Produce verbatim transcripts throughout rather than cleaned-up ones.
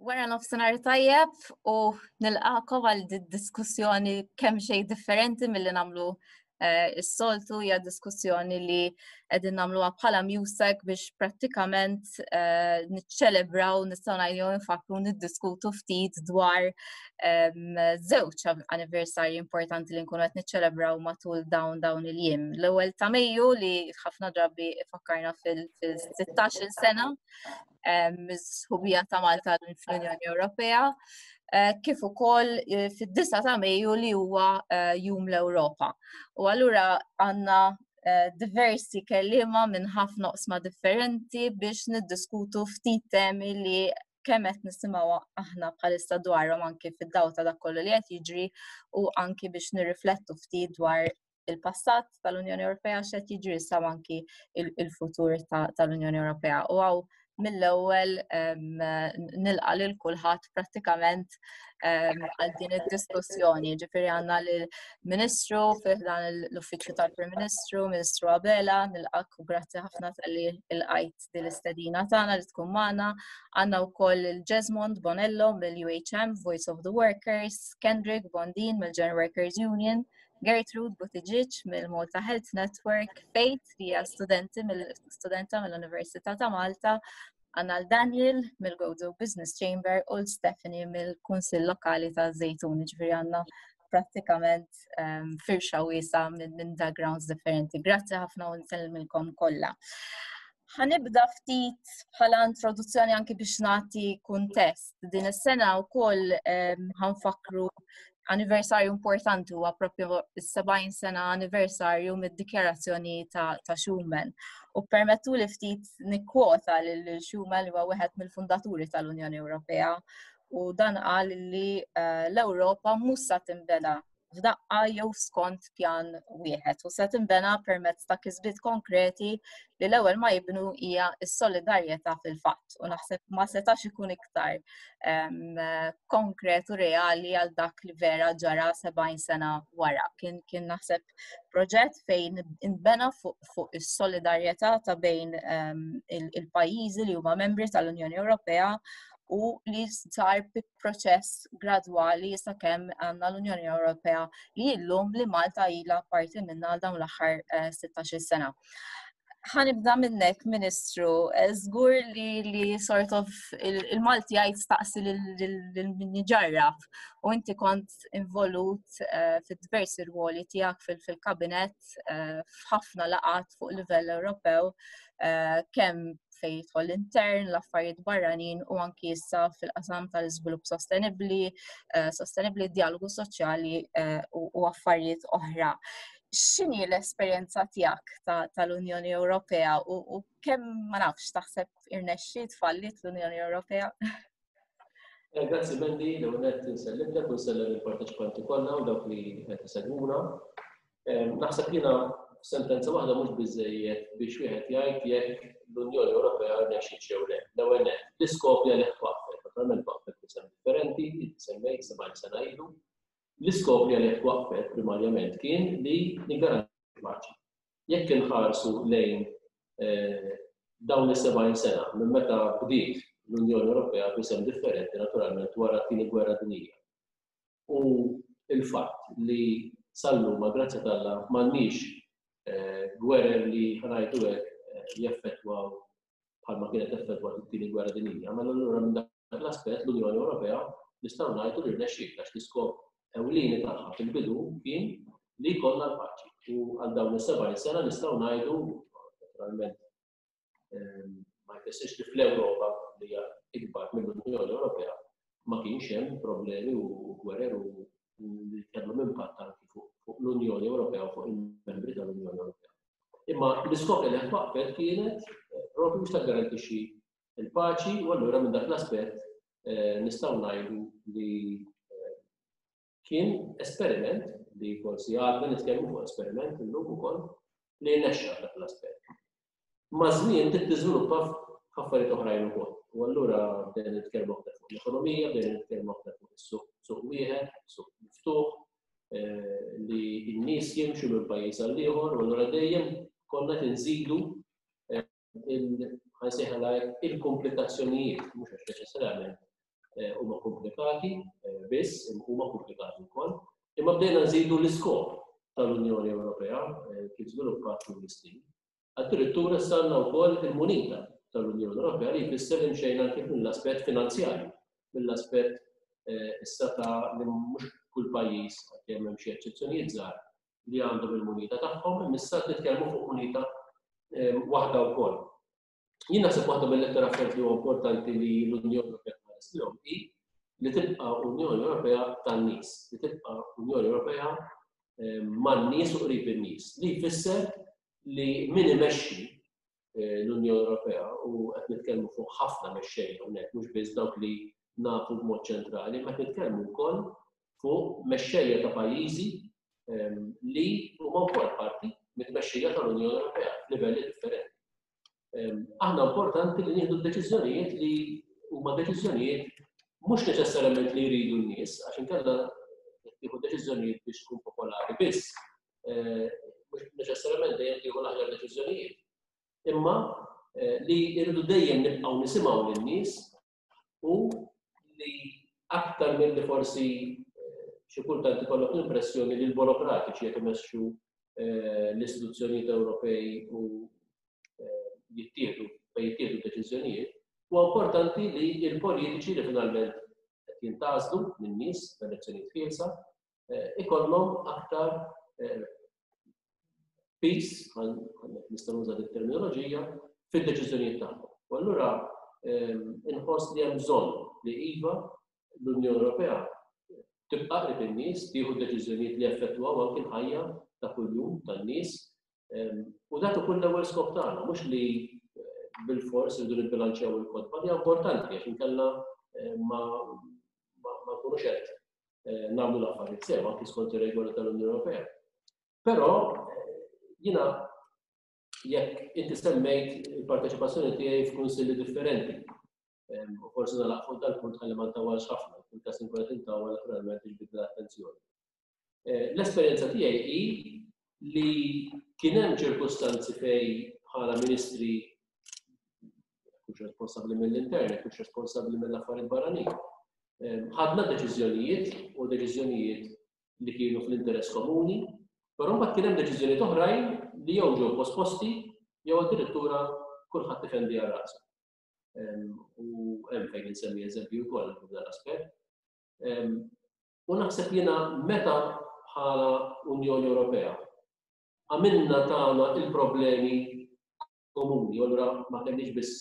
Wara nofsinhar tajjeb u nilqakom għal diskussjoni kemm xejn differenti milli nagħmlu eh, is-soltu. Hija diskussjoni li qegħdin nagħmluha bħala MUSEC biex prattikament eh, niċċelebraw, nistgħu ngħidu nfakru, niddiskutu ftit dwar ehm, żewġ anniversarji importanti li nkunu qed niċċelebraw matul dawn dawn il-jiem. L-ewwel ta' Mejju, li ħafna drabi fakkarna fil-sittax-il sena mis-sħubija ta' Malta fl-Unjoni Ewropea, eh, kif ukoll eh, fid-disa ta' Mejju, li huwa eh, Jum l-Ewropa. U allura għandna diversi kelliema minn ħafna oqsma differenti biex niddiskutu ftit temi li kemm qed nisimgħu aħna bħalissa dwarhom anki fid-dawl ta' dak kollu li qed jiġri u anki biex nirriflettu ftit dwar il-passat tal-Unjoni Ewropea, x'qed jiġri issa, anki il-futur tal-Unjoni Ewropea. U hawn mill-ewwel nilqa' lil kulħadd prattikament għal din id-diskussjoni. Ġifieri għandna lill-Ministru fi ħdan l-Uffiċċju tal-Prim Ministru, Ministru Abela, nilqak u grazzi ħafna talli lqajt din l-istedina tagħna li tkun magħna. Għandna wkoll il-Jesmond Bonello mill-U H M, Voice of the Workers, Kendrick Bondin mill-General Workers Union, Gertrude Buttigieg mill-Malta Health Network, Faith li hija studenti mill-studenta mill-Università ta' Malta, għandna l-Daniel mill-Gozo Business Chamber u l-Stephanie mill-Kunsill Lokali ta' Zejtun, ġifieri għandna prattikament um, firxa wiesgħa minn min backgrounds differenti. Grazzi ħafna u nsellmilkom kollha. Ħa nibda ftit bħala introduzzjoni anki biex nagħti kuntest. Din is-sena wkoll um, ħa nfakkru anniversarju importanti, huwa propju is-sebgħin sena anniversarju mid-dikjarazzjoni ta', ta Schuman. U permettu li ftit nikkwota lil Schuman, li huwa wieħed mill-fundaturi tal-Unjoni Ewropea, u dan qal li uh, l-Ewropa mhux sa tinbena f'daqqa jew skont pjan wieħed u se tinbena permezz ta' kisbiet konkreti li l-ewwel ma jibnu hija s-solidarjetà fil-fatt. U naħseb ma setax ikun iktar um, konkret u reali għal dak li vera ġara sebgħin sena wara. Kien, kien naħseb proġett fejn inbena fuq fu is-solidarjetà ta' bejn um, il-pajjiżi li huma membri tal-Unjoni Ewropea u li sar bi proċess gradwali sakemm għandna l-Unjoni Ewropea li illum li Malta ilha parti minna għal dawn l-aħħar sittax-il eh, sena. Ħa nibda minnek, Ministru, eh, żgur li, li sort of il-Malti jgħid "staqsi lil min ġarrab", u inti kont involut uh, fid-diversi ruoli tiegħek fil-kabinet uh, f'ħafna laqgħat fuq livell Ewropew, uh, kemm fejn jidħol intern, l-affarijiet barranin u anki issa fil-qasam tal-iżvilupp sostenibbli, uh, sostenibbli, dialogu soċjali uh, u affarijiet oħra. X'inhi l-esperjenza tiegħek tal-Unjoni Ewropea u, u kemm, ma nafx, taħseb irnexxiet, fallit l-Unjoni Ewropea? Eh, grazzi Mandy, l-ewwel nsellimlek u nsellem il-parteċipanti kollha u dawk li qed isegwuna. Naħseb jiena sentenza waħda mhux biżejjed biex wieħed jgħid jekk l-Unjoni Ewropea rnexxiet jew le. L-ewwel nett, l-iskop li għalih twaqqfet, naturalment twaqqfet b'isem differenti, semmejt sebgħin sena ilu. L-iskop li għalih twaqqfet primarjament kien li niggarantixxu paċi. Jekk inħarsu lejn eh, dawn is-sebgħin sena minn meta bdiet l-Unjoni Ewropea b'isem differenti, naturalment wara t-tieni gwerra dinjija, u il-fatt li sal-lum, ma grazzi t'Alla, m'għandniex eh, gwerer li, ħa ngħidu hekk, eh, jeffettwaw bħalma kienet effettwat it-tieni gwerra dinjija. Mela allura minn dak l-aspett l-Unjoni Ewropea nistgħu ngħidu li rnexxiet, għax l-iskop ewlieni tagħha fil-bidu kien li jkollna l-paċi. U għal dawn is-sebgħin sena nistgħu ngħidu, naturalment ehm, ma jfissirx li fl-Ewropa, li hija ikbar mill-Unjoni Ewropea, ma kienx hemm problemi u gwerer u li kellhom impatt anki fuq l-Unjoni Ewropea u fuq il-membri tal-Unjoni Ewropea. Imma l-iskop li twaqqfet kienet eh, propju biex taggarantixxi il-paċi u allura minn dak l-aspett eh, nistgħu ngħidu li eh, kien esperiment, li forsi għadna nitkellmu fuq esperiment illum ukoll, li nexxa dak l-aspett. Maż-żmien trid tiżviluppa f'affarijiet oħrajn ukoll. U allura bdejna nitkellmu aktar fuq l-ekonomija, bdejna nitkellmu aktar fuq is-suq, suq wieħed, suq miftuħ, eh, li n-nies jimxu minn pajjiż għal ieħor, u allura dejjem konna tinżidu eh, il-komplikazzjonijiet, mhux għax neċessarjament huma komplikati biss, huma komplikati wkoll, imma bdejna nżidu l-iskop tal-Unjoni Ewropea kif żviluppat tul is-snin. Addirittura issa għandna wkoll il-munita tal-Unjoni Ewropea li jfisser li mxejna anke mill-aspett finanzjarju, mill-aspett issa ta' li mhux kull pajjiż kemm hemm xi eċċezzjonijiet żgħar li għandhom il-munita tagħhom, imma issa nitkellmu fuq munita waħda wkoll. Jien naħseb waħda mill-iktar affarijiet li huwa importanti li l-Unjoni Ewropea tħares lihom hi li tibqa' Unjoni Ewropea tan-nies, li tibqa' Unjoni Ewropea man-nies u qrib in-nies, li jfisser li min imexxi l-Unjoni Ewropea u qed nitkellmu fuq ħafna mexxejja hawnhekk mhux biss dawk li nafu b'mod ċentrali, ma qed nitkellmu wkoll fuq mexxejja ta' pajjiżi li huma wkoll parti mit-tmexxija tal-Unjoni Ewropea f'livelli differenti. Aħna importanti li nieħdu deċiżjonijiet li huma deċiżjonijiet mhux neċessarjament li jridu n-nies, għax inkella tieħu deċiżjonijiet biex tkun popolari biss, mhux neċessarjament dejjem tieħu l-aħjar deċiżjonijiet. Imma li jridu dejjem nibqgħu nisimgħu lin-nies u li aktar milli forsi xi kultant ikollok l-impressjoni li l-burokratiċi qed imexxu l-istituzzjonijiet Ewropej u jittieħdu fejn jittieħdu deċiżjonijiet, huwa importanti li l-politiċi li finalment qed jintgħażlu min-nies f'elezzjonijiet ħielsa ikollhom aktar piż, nista' nuża din terminoloġija, fid-deċiżjonijiet tagħhom. U allura inħoss li hemm bżonn li iva l-Unjoni Ewropea tibqa' qrib in-nies, tieħu deċiżjonijiet li effettwaw anke l-ħajja ta' kuljum tan-nies. U dak ikun l-ewwel skop tagħna, mhux li bil-fors irridu nibbilanċjaw il-kotba, li importanti għax inkella ma ma nkunux qed nagħmlu l-affarijiet sew anke skont ir-regoli tal-Unjoni Ewropea. Però jiena jekk inti semmejt il-parteċipazzjoni tiegħi f'kunsilli differenti. U forsi nagħlaq fuq dal-punt ħalli ma ntawwalx ħafna, fil-każ inkun qed intawwal naturalment tiġbidli l-attenzjoni. L-esperjenza tiegħi hi li kien hemm ċirkustanzi fejn bħala ministri kux responsabbli mill-intern, kux responsabbli mill-affarijiet barranin. Ħadna deċiżjonijiet u deċiżjonijiet li kienu fl-interess komuni, però mbagħad kien hemm deċiżjonijiet oħrajn li jew ġew posposti jew addirittura kulħadd ifendi għal rasu. U hemm fejn insemmi eżempju wkoll f'dan l-aspett. U naħseb jiena meta bħala Unjoni Ewropea għamilna tagħna il-problemi komuni, u allura ma kellniex biss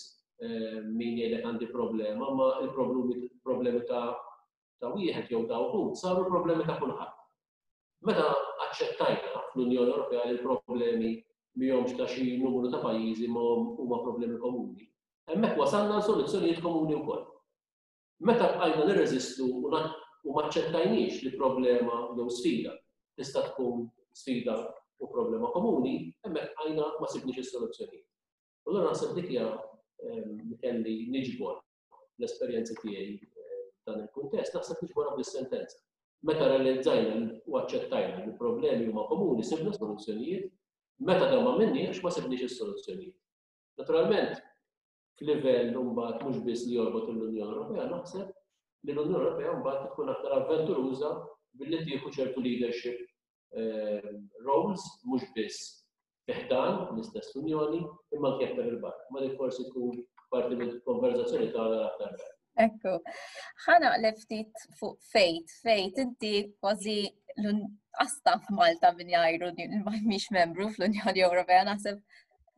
min jgħidlek għandi problema, ma il-problemi problemi ta' ta' wieħed jew ta' wħud saru problemi ta' kulħadd. Meta aċċettajna fl-Unjoni Ewropea li l-problemi mihomx ta' xi numru ta' pajjiżi ma huma problemi komuni, hemmhekk wasalna soluzzjonijiet komuni wkoll. Meta bqajna nirreżistu u ma aċċettajniex li problema jew sfida tista' tkun sfida u problema komuni, hemmhekk bqajna ma sibniex is-soluzzjonijiet. U allura naħseb dik hija li kelli niġbor l-esperjenza tiegħi f'dan il-kuntest, naħseb niġborha bis-sentenza. Meta realizzajna u aċċettajna li problemi huma komuni, sibna soluzzjonijiet, meta dan ma minniex ma sibniex is-soluzzjonijiet. Naturalment, f'livell mbagħad mhux biss li jorbot l-Unjoni Ewropea, naħseb li l-Unjoni Ewropea mbagħad tkun aktar avventuruża billi tieħu ċertu leadership roles mhux biss fi ħdan l-istess Unjoni imma anke aktar il-barra. Ma dik forsi tkun parti mill-konverzazzjoni tagħna aktar tard. Ekku, ħa naqleb ftit fuq Faith. Faith, inti kważi l-asta f'Malta min jgħidu mhix membru fl-Unjoni Ewropea, naħseb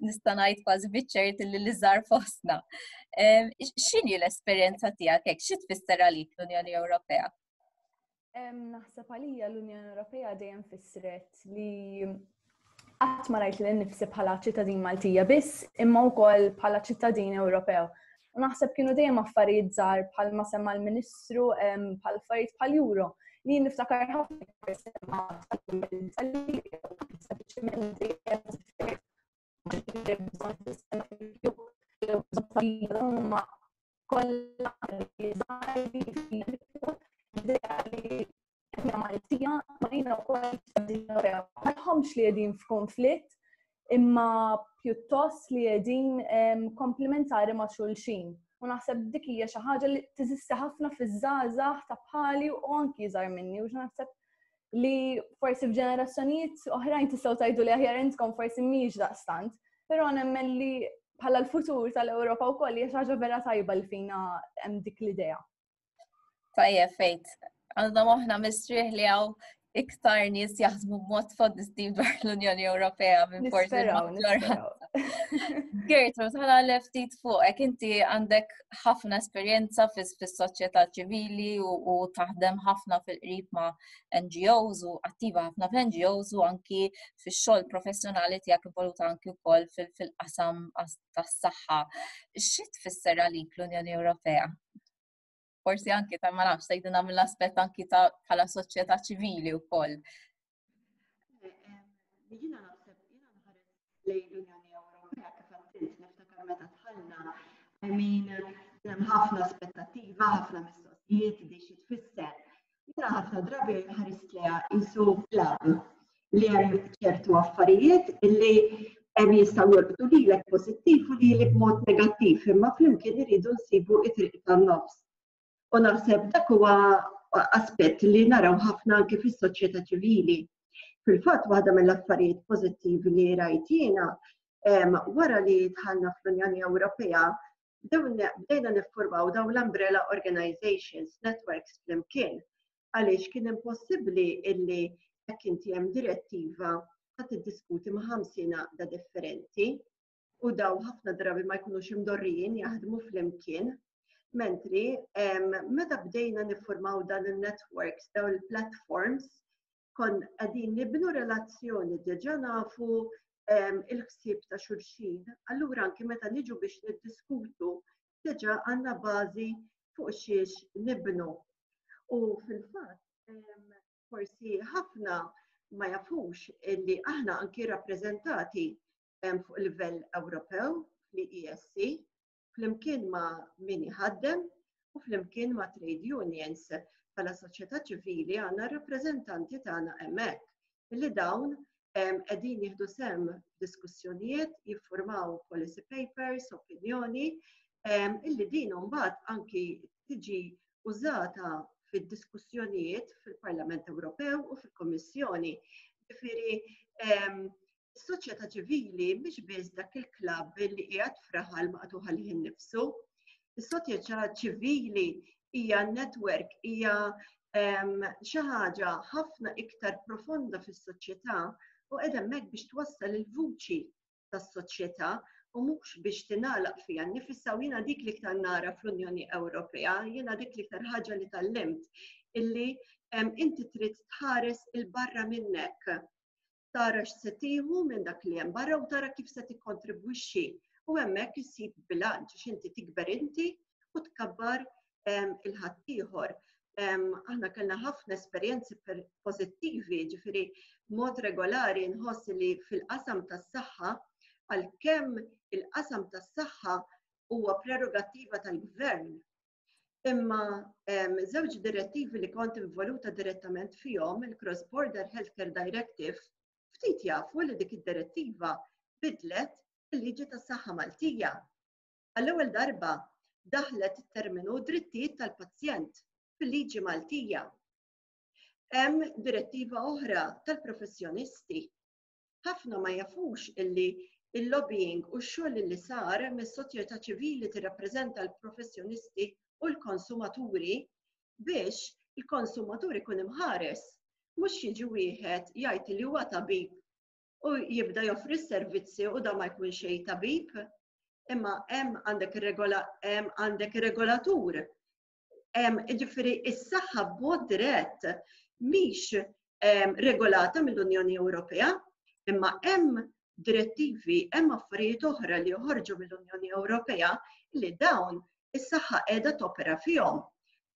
nista' ngħid kważi biċ-ċert li l-iżgħar fostna. X'inhi l-esperjenza tiegħek hekk? Xi tfisser għalik l-Unjoni Ewropea? Naħseb għalija l-Unjoni Ewropea dejjem fissret li qatt ma rajt lili nnifsi bħala ċittadin Maltija biss, imma wkoll bħala ċittadin Ewropew. U naħseb kienu dejjem affarijiet żgħar bħalma semma l-Ministru, bħal affarijiet bħal Euro. Li niftakar ħafna sempliċement kollha li Maltija ma jiena wkoll ċittadin Ewropew. Ma nħommx li qegħdin f'konflitt, imma pjuttost li qegħdin komplementari ma' xulxin. U U naħseb dik hija xi ħaġa li teżisti ħafna fiż-żgħażagħ ta' bħali u anki iżgħar minni u naħseb li forsi f'ġenerazzjonijiet oħrajn tistgħu tgħidu li aħjar intkom forsi mhijiex daqstant, però nemmen li bħala l-futur tal-Ewropa wkoll hija xi ħaġa vera tajba li fina hemm dik l-idea. Tajjeb fejt, għandna moħħna mistrieħ li hawn iktar nies jaħsbu b'mod pożittiv dwar l-Unjoni Ewropea minn forsi l-maġġoranza. Gertrude, ħa nagħlaq ftit fuqek, inti għandek ħafna esperjenza fis-soċjetà ċivili u taħdem ħafna fil-qrib ma' N G Os u attiva ħafna f'N G Os u anki fix-xogħol professjonali tiegħek involuta anki wkoll fil-qasam tas-saħħa. Xi tfisser għalik l-Unjoni Ewropea? Forsi anki ta' ma nafx tgħidilna mill-aspett anki ta' bħala soċjetà ċivili wkoll. Jiena naħseb jiena nħares lejn l-Unjoni Ewropea kif għedt niftakar meta dħalna. I mean, hemm ħafna aspettattiva, ħafna mistoqsijiet di xi tfisser. Jiena ħafna drabi ħarist lejha qisu club li hemm ċertu affarijiet illi hemm jistgħu jolqtu lilek pożittiv u lili b'mod negattiv, imma flimkien iridu nsibu it-triq tan-nofs. U naħseb dak huwa aspett li naraw ħafna anke fis-soċjetà ċivili. Fil-fatt, waħda mill-affarijiet pożittivi li rajt jiena wara li dħalna fl-Unjoni Ewropea, bdejna niffurmaw dawn l-umbrella organizations, networks flimkien, għaliex kien impossibbli illi jekk inti hemm direttiva ħa tiddiskuti ma' ħamsin għaqda differenti u dawn ħafna drabi ma jkunux imdorrijin jaħdmu flimkien. Mentri, meta bdejna niffurmaw dan il-networks, dawn il-platforms, konna qegħdin nibnu relazzjoni, diġà nafu il-ħsieb ta' xulxin, allura anki meta niġu biex niddiskutu, diġà għandna bażi fuq xiex nibnu. U fil-fatt, forsi ħafna ma jafux illi aħna anki rappreżentati fuq livell Ewropew fl-E S C, flimkien ma' min iħaddem u flimkien ma' trade unions. Bħala soċjetà ċivili għandna rappreżentanti tagħna hemmhekk illi dawn qegħdin jieħdu sehem diskussjonijiet, jiffurmaw policy papers, opinjoni, illi din mbagħad anki tiġi użata fid-diskussjonijiet fil-Parlament Ewropew u fil-Kommissjoni. Ġifieri, is-soċjetà ċivili mhix biss dak il-klabb li qiegħed f'raħal maqtugħ għalih innifsu. Is-soċjetà ċivili hija network, hija xi ħaġa ħafna iktar profonda fis-soċjetà u qiegħda hemmhekk biex twassal il-vuċi tas-soċjetà u mhux biex tingħalaq fiha nnifisha. U jiena dik li iktar nara fl-Unjoni Ewropea, jiena dik li iktar ħaġa li tgħallimt, illi inti trid tħares 'il barra minnek, tara x'se tieħu minn dak li hemm barra u tara kif se tikkontribwixxi. U hemmhekk issib bilanċ għax inti tikber inti u tkabbar il-ħaddieħor. Aħna kellna ħafna esperjenzi pożittivi, ġifieri mod regolari nħoss li fil-qasam tas-saħħa, għalkemm il-qasam tas-saħħa huwa prerogattiva tal-gvern, imma żewġ direttivi li kont involuta direttament fihom, il-Cross Border Healthcare Directive, ftit jafu li dik id-direttiva bidlet il-liġi tas-saħħa Maltija. Għall-ewwel darba daħlet it-terminu drittijiet tal-pazjent fil-liġi Maltija. Hemm direttiva oħra tal-professjonisti. Ħafna ma jafux illi il-lobbying u x-xogħol li sar mis-soċjetà ċivili tirrappreżenta l-professjonisti u l-konsumaturi biex il-konsumatur ikun imħares, mhux jiġi wieħed jgħid li huwa tabib u jibda joffri s-servizzi u da ma jkun xejn tabib. Imma hemm għandek regola hemm għandek regolatur. Hemm, ġifieri, is-saħħa b'mod dirett mhix regolata mill-Unjoni Ewropea, imma hemm direttivi, hemm affarijiet oħra li joħorġu mill-Unjoni Ewropea li dawn is-saħħa qiegħda topera fihom.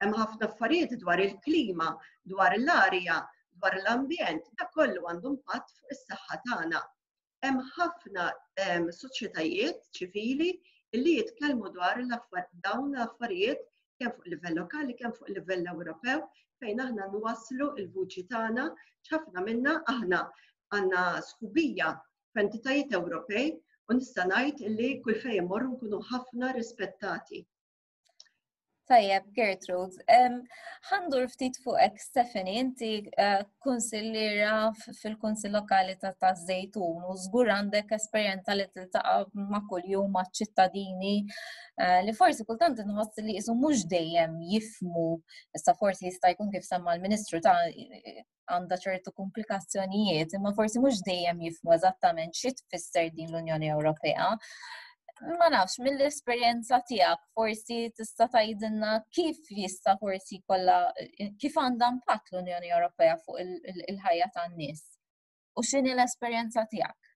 Hemm ħafna affarijiet dwar il-klima, dwar l-arja, dwar l-ambjent, dak kollu għandu impatt fuq is-saħħa tagħna. Hemm ħafna soċjetajiet ċivili li jitkellmu dwar dawn l-affarijiet kemm fuq livell lokali, kemm fuq livell Ewropew, fejn aħna nwasslu il-vuċi tagħna. Ħafna minna aħna għandna sħubija f'entitajiet Ewropej u nista' ngħid li kull fejn immorru nkunu ħafna rispettati. Tajjeb, Gertrude, ħa ndur ftit fuqek, Stephanie, inti eh, kunsilliera fil-Kunsill Lokali ta' Taż-Żejtun u żgur għandek esperjenza li tiltaqa' ma' kuljum ma' ċittadini eh, li forsi kultant inħoss li jisu mhux dejjem jifmu, issa forsi jista' jkun kif semma l-Ministru ta' għandha ċertu komplikazzjonijiet, imma forsi mhux dejjem jifmu eżattament xi tfisser din l-Unjoni Ewropea. Ma nafx, mill-esperjenza tiegħek forsi tista' tgħidilna kif jista' forsi kollha kif għandha impatt l-Unjoni Ewropea fuq il-ħajja tan-nies. U x'inhi l-esperjenza tiegħek?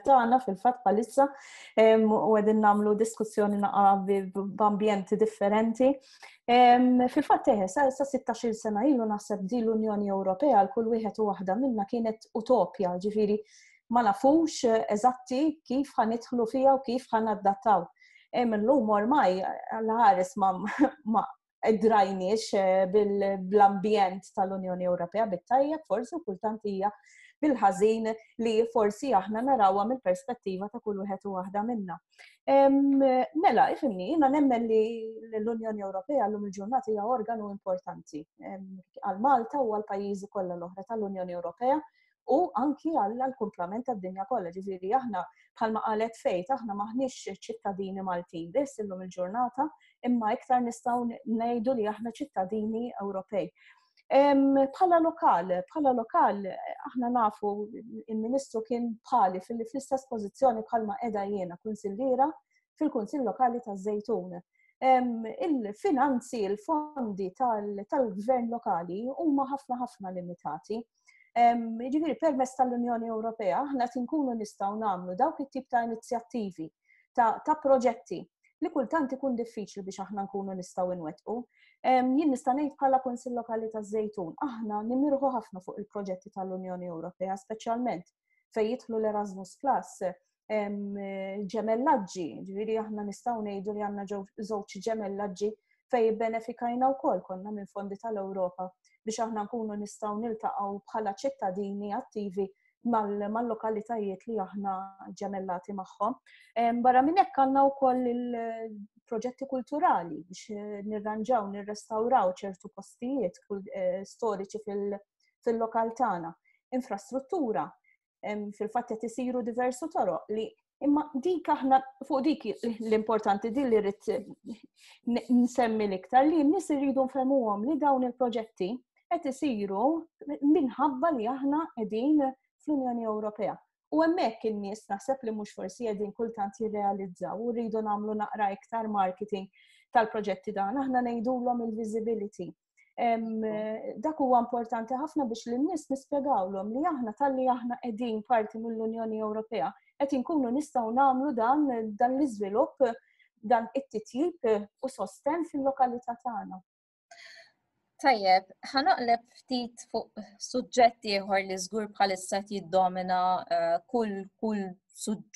Tagħna fil-fatt bħalissa u qegħdin nagħmlu diskussjoni naqa' b'ambjenti differenti. Fil-fatt eħe, sa sittax-il sena ilu naħseb di l-Unjoni Ewropea għal kull wieħed u waħda minna kienet utopja, ġifieri ma nafux eżatti kif ħa nidħlu fiha u kif ħa nadattaw. Illum ormai l-ħares ma drajniex eh, bil-ambjent tal-Unjoni Ewropea bit-tajjeb forsi u kultant hija bil-ħażin li forsi aħna narawha mill-perspettiva ta' kull wieħed u waħda minna. Mela, ifhimni, jiena nemmen li l-Unjoni Ewropea llum il-ġurnata hija organu importanti għal Malta u għal pajjiżi kollha l-oħra tal-Unjoni Ewropea u anki għal kumplament tad-dinja kollha. Ġifieri aħna bħalma qalet Faith, aħna maħniex ċittadini Maltin biss illum il-ġurnata, imma iktar nistgħu ngħidu li aħna ċittadini Ewropej. Bħala lokal, bħala lokal, aħna nafu il-Ministru kien bħali fil-istess pożizzjoni bħalma qiegħda jiena kunsilliera fil-Kunsill Lokali taż-Żejtun. Il-finanzi, il-fondi tal-gvern lokali huma ħafna ħafna limitati. Ġifieri permezz tal-Unjoni Ewropea aħna tinkunu nistgħu nagħmlu dawk it-tip ta' inizjattivi, ta' proġetti li kultant ikun diffiċli biex aħna nkunu nistgħu nwettqu. Jien nista' ngħid bħala Kunsill Lokali taż-Żejtun, aħna nimirħu ħafna fuq il-proġetti tal-Unjoni Ewropea, speċjalment fejn jidħlu l-Erasmus Plus, ġemellaġġi, ġifieri aħna nistgħu ngħidu li għandna żewġ ġemellaġġi fejn benefikajna wkoll konna minn fondi tal-Ewropa biex aħna nkunu nistgħu niltaqgħu bħala ċittadini attivi mal-lokalitajiet li aħna ġemellati magħhom. Barra minn hekk għandna wkoll il-proġetti kulturali biex nirranġaw, nirrestawraw ċertu postijiet eh, storiċi fil-lokal tagħna. Infrastruttura, fil-fatt qed isiru diversu toroq li imma dik aħna fuq dik l-importanti din li rrid nsemmi l-iktar li n-nies iridu nfehmuhom li dawn il-proġetti qed isiru minħabba li aħna qegħdin fl-Unjoni Ewropea. U hemmhekk in-nies naħseb li mhux forsi qegħdin kultant jirrealizzaw u rridu nagħmlu naqra iktar marketing tal-proġetti dan, aħna ngħidulhom il-visibility. Dak huwa importanti ħafna biex lin-nies nispjegawlhom li aħna talli aħna qegħdin parti mill-Unjoni Ewropea qed inkunu nistgħu nagħmlu dan dan l-iżvilupp dan it-titjib u sosten fil-lokalità tagħna. Tajjeb, ħa naqleb ftit fuq suġġett ieħor li żgur bħalissa jiddomina eh, kull kull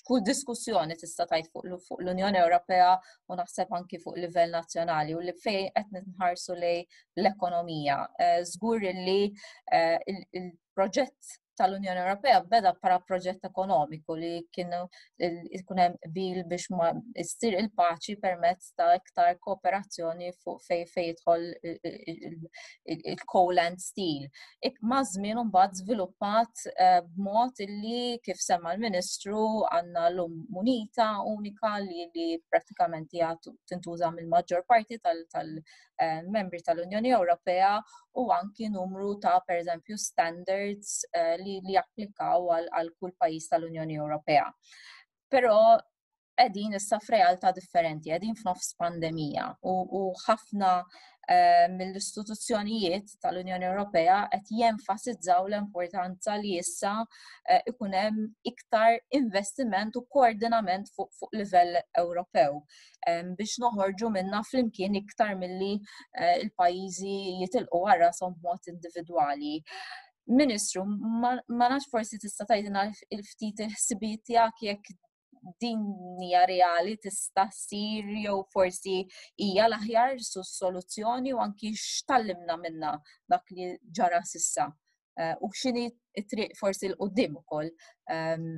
kull diskussjoni tista' tgħid fuq l-Unjoni Ewropea u naħseb anki fuq livell nazzjonali u li fejn qed nħarsu lej l-ekonomija. Eh, żgur li eh, il-proġett tal-Unjoni Ewropea beda bħala proġett ekonomiku li kienu ikun hemm qbil biex ma issir il-paċi permezz ta' iktar kooperazzjoni fuq fej fej jidħol il-coal and steel. Ik ma' żmien mbagħad żviluppat eh, b'mod illi kif semma l-Ministru għandna l-lum munita unika li, li prattikament hija tintuża mill-maġġor parti tal-membri eh, tal-Unjoni Ewropea u anki numru ta' pereżempju standards eh, li, li japplikaw għal kull pajjiż tal-Unjoni Ewropea. Però qegħdin issa f'realtà differenti, qegħdin f'nofs pandemija u, u ħafna eh, mill-istituzzjonijiet tal-Unjoni Ewropea qed jenfasizzaw l-importanza li issa eh, ikun hemm iktar investiment u koordinament fuq fu livell Ewropew eh, biex noħorġu minna flimkien iktar milli eh, il-pajjiżi jitilqu għal rashom b'mod individwali. Ministru, ma nafx forsi tista' tgħidilna il-ftit il-ħsibijiet tiegħek jekk din hija reali tista' ssir jew forsi hija l-aħjar soluzzjoni u anki x'tallimna minna dak li ġara sissa eh, u x'inhi t-triq forsi 'l quddiem ukoll ehm,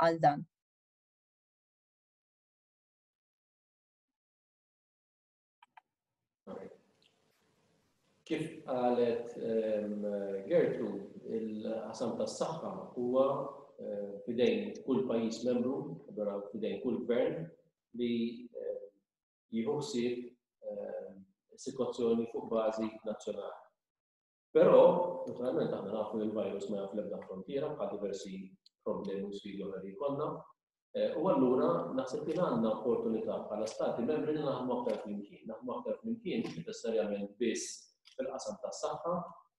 għal dan. Kif qalet ehm, Gertrude, il-qasam tas-saħħa huwa eh, fidejn kull pajjiż membru, allura fidejn kull gvern li eh, jieħu ħsieb eh, is-sitwazzjoni fuq bażi nazzjonali. Però, naturalment, aħna nafu li l-virus ma jaf l-ebda frontiera bħal diversi problemi u sfidi oħra li jkollna. Eh, u allura naħseb li għandna opportunità bħala stati membri li naħdmu aktar flimkien. Naħdmu aktar flimkien mhux neċessarjament biss fil-qasam tas-saħħa,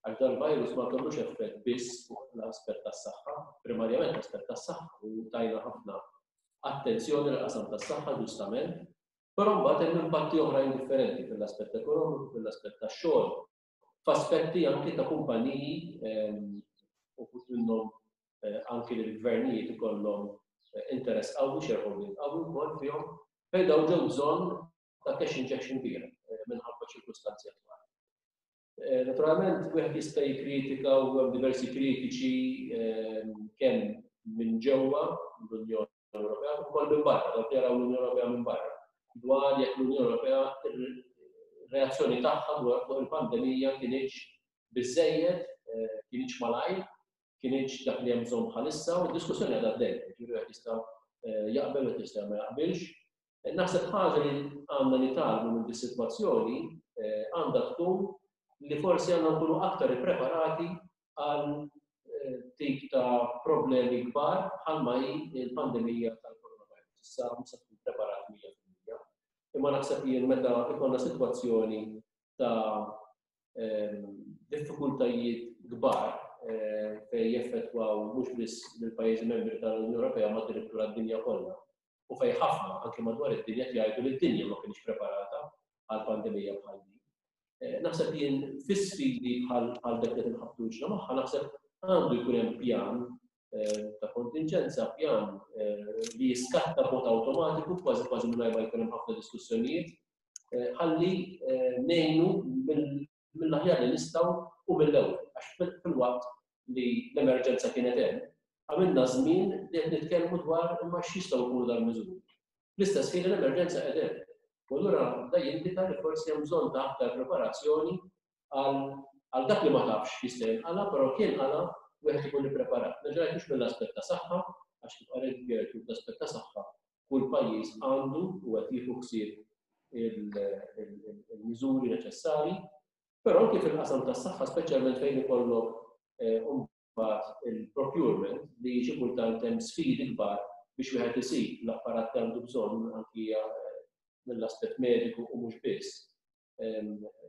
għax dal-virus ma kellux effett biss fuq l-aspett tas-saħħa, primarjament l-aspett tas-saħħa u tajna ħafna attenzjoni l-qasam tas-saħħa ġustament, però mbagħad hemm impatti oħrajn differenti fil-aspett ekonomiku, fil-aspett tax-xogħol, f'aspetti anki ta' kumpaniji ehm, uħud minnhom eh, anki li l-gvernijiet ikollhom eh, interess qawwi, shareholding qawwi wkoll fihom, fejn dawn ġew bżonn ta' cash injection kbira eh, minħabba ċirkustanzi attwali. Naturalment, wieħed jista' jikkritika u hemm diversi kritiċi ehm, kemm minn ġewwa l-Unjoni Ewropea u wkoll minn barra, dawk li jaraw l-Unjoni Ewropea minn barra, dwar jekk l-Unjoni Ewropea reazzjoni tagħha dwar fuq il-pandemija kinitx biżejjed, eh, kinitx malajr, kinitx dak li hemm bżonn bħalissa u d-diskussjoni għadha għaddejja, jiġifieri wieħed jista' eh, jaqbel u jista' ma jaqbilx. Eh, naħseb ħaġa li għandna nitgħallmu minn dis-sitwazzjoni għandha tkun li forsi għandna nkunu aktar ippreparati għal tip ta' problemi kbar bħalma hi l-pandemija tal-coronavirus. Issa mhux se tkun preparat mija fil-mija. Imma naħseb jien meta ikollna sitwazzjoni ta' ehm, diffikultajiet kbar eh, fejn jeffettwaw mhux biss lill-pajjiżi membri tal-Unjoni Ewropea ma addirittura d-dinja kollha. U fejn ħafna anke madwar id-dinja jgħidu li d-dinja ma kienx preparata għal pandemija bħal din. Eh, naħseb jien fis-sfidi bħal dak li tinħabtu wiċċna magħha naħseb għandu jkun hemm pjan eh, ta' kontinġenza, pjan eh, li jiskatta b'mod awtomatiku kważi kważi mingħajr ma jkun hemm ħafna diskussjonijiet, ħalli ngħinu mill-aħjar li nistgħu u mill-ewwel għax fil-waqt li l-emerġenza kienet hemm, għamilna żmien li qed nitkellmu dwar imma x'jistgħu jkunu dal-miżuri. Fl-istess ħin l-emerġenza qed hemm. U allura da jindika li forsi hemm bżonn ta' aktar preparazzjoni għal dak li ma tafx jista' jinqala, però kien qala wieħed ikun ippreparat. Nerġa' mhux mill-aspett ta' saħħa, għax kif qalet Gertrude l-aspett ta' saħħa kull pajjiż għandu u qed jieħu ħsieb il-miżuri neċessarji, però anke fil-qasam tas-saħħa, speċjalment fejn ikollok eh, mbagħad il-procurement li xi kultant hemm sfidi kbar biex wieħed isib l-apparat li għandu bżonn anki eh, mill-aspett mediku u mhux biss.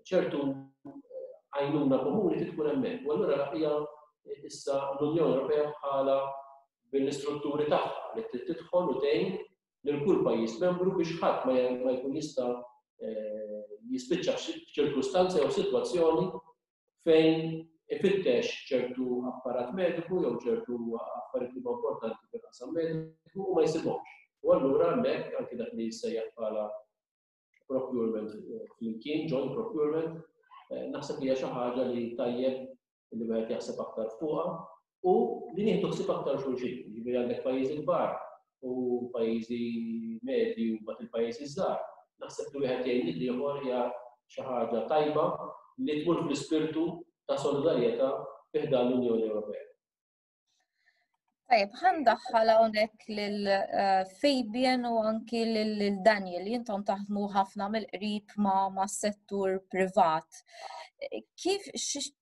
Ċertu eh, għajnuna komuni trid tkun hemmhekk. U allura hija issa l-Unjoni Ewropea bħala bil-istrutturi tagħha li trid tidħol u tgħin lil kull pajjiż membru biex ħadd ma jkun jista' eh, jispiċċa f'ċirkustanza jew sitwazzjoni fejn ifittex ċertu apparat mediku jew ċertu affarijiet li huma importanti fil-qasam mediku u ma jsibhomx. U allura hemmhekk anke dak li jissejjaħ bħala procurement eh, flimkien, joint procurement, eh, naħseb li hija xi ħaġa li tajjeb li wieħed jaħseb aktar fuqha u li nieħdu ħsieb aktar xulxin. Jiġifieri għandek pajjiżi kbar u pajjiżi medji u mbagħad il-pajjiżi żgħar. Naħseb li wieħed jgħin lil ieħor hija xi ħaġa tajba li tmur fl-ispirtu ta' solidarjetà fi ħdan l-Unjoni Ewropea. Tajjeb, ħa ndaħħal hawnhekk lil eh, Fabian u anki lil Daniel li intom taħdmu ħafna mill-qrib ma' ma' settur privat. Kif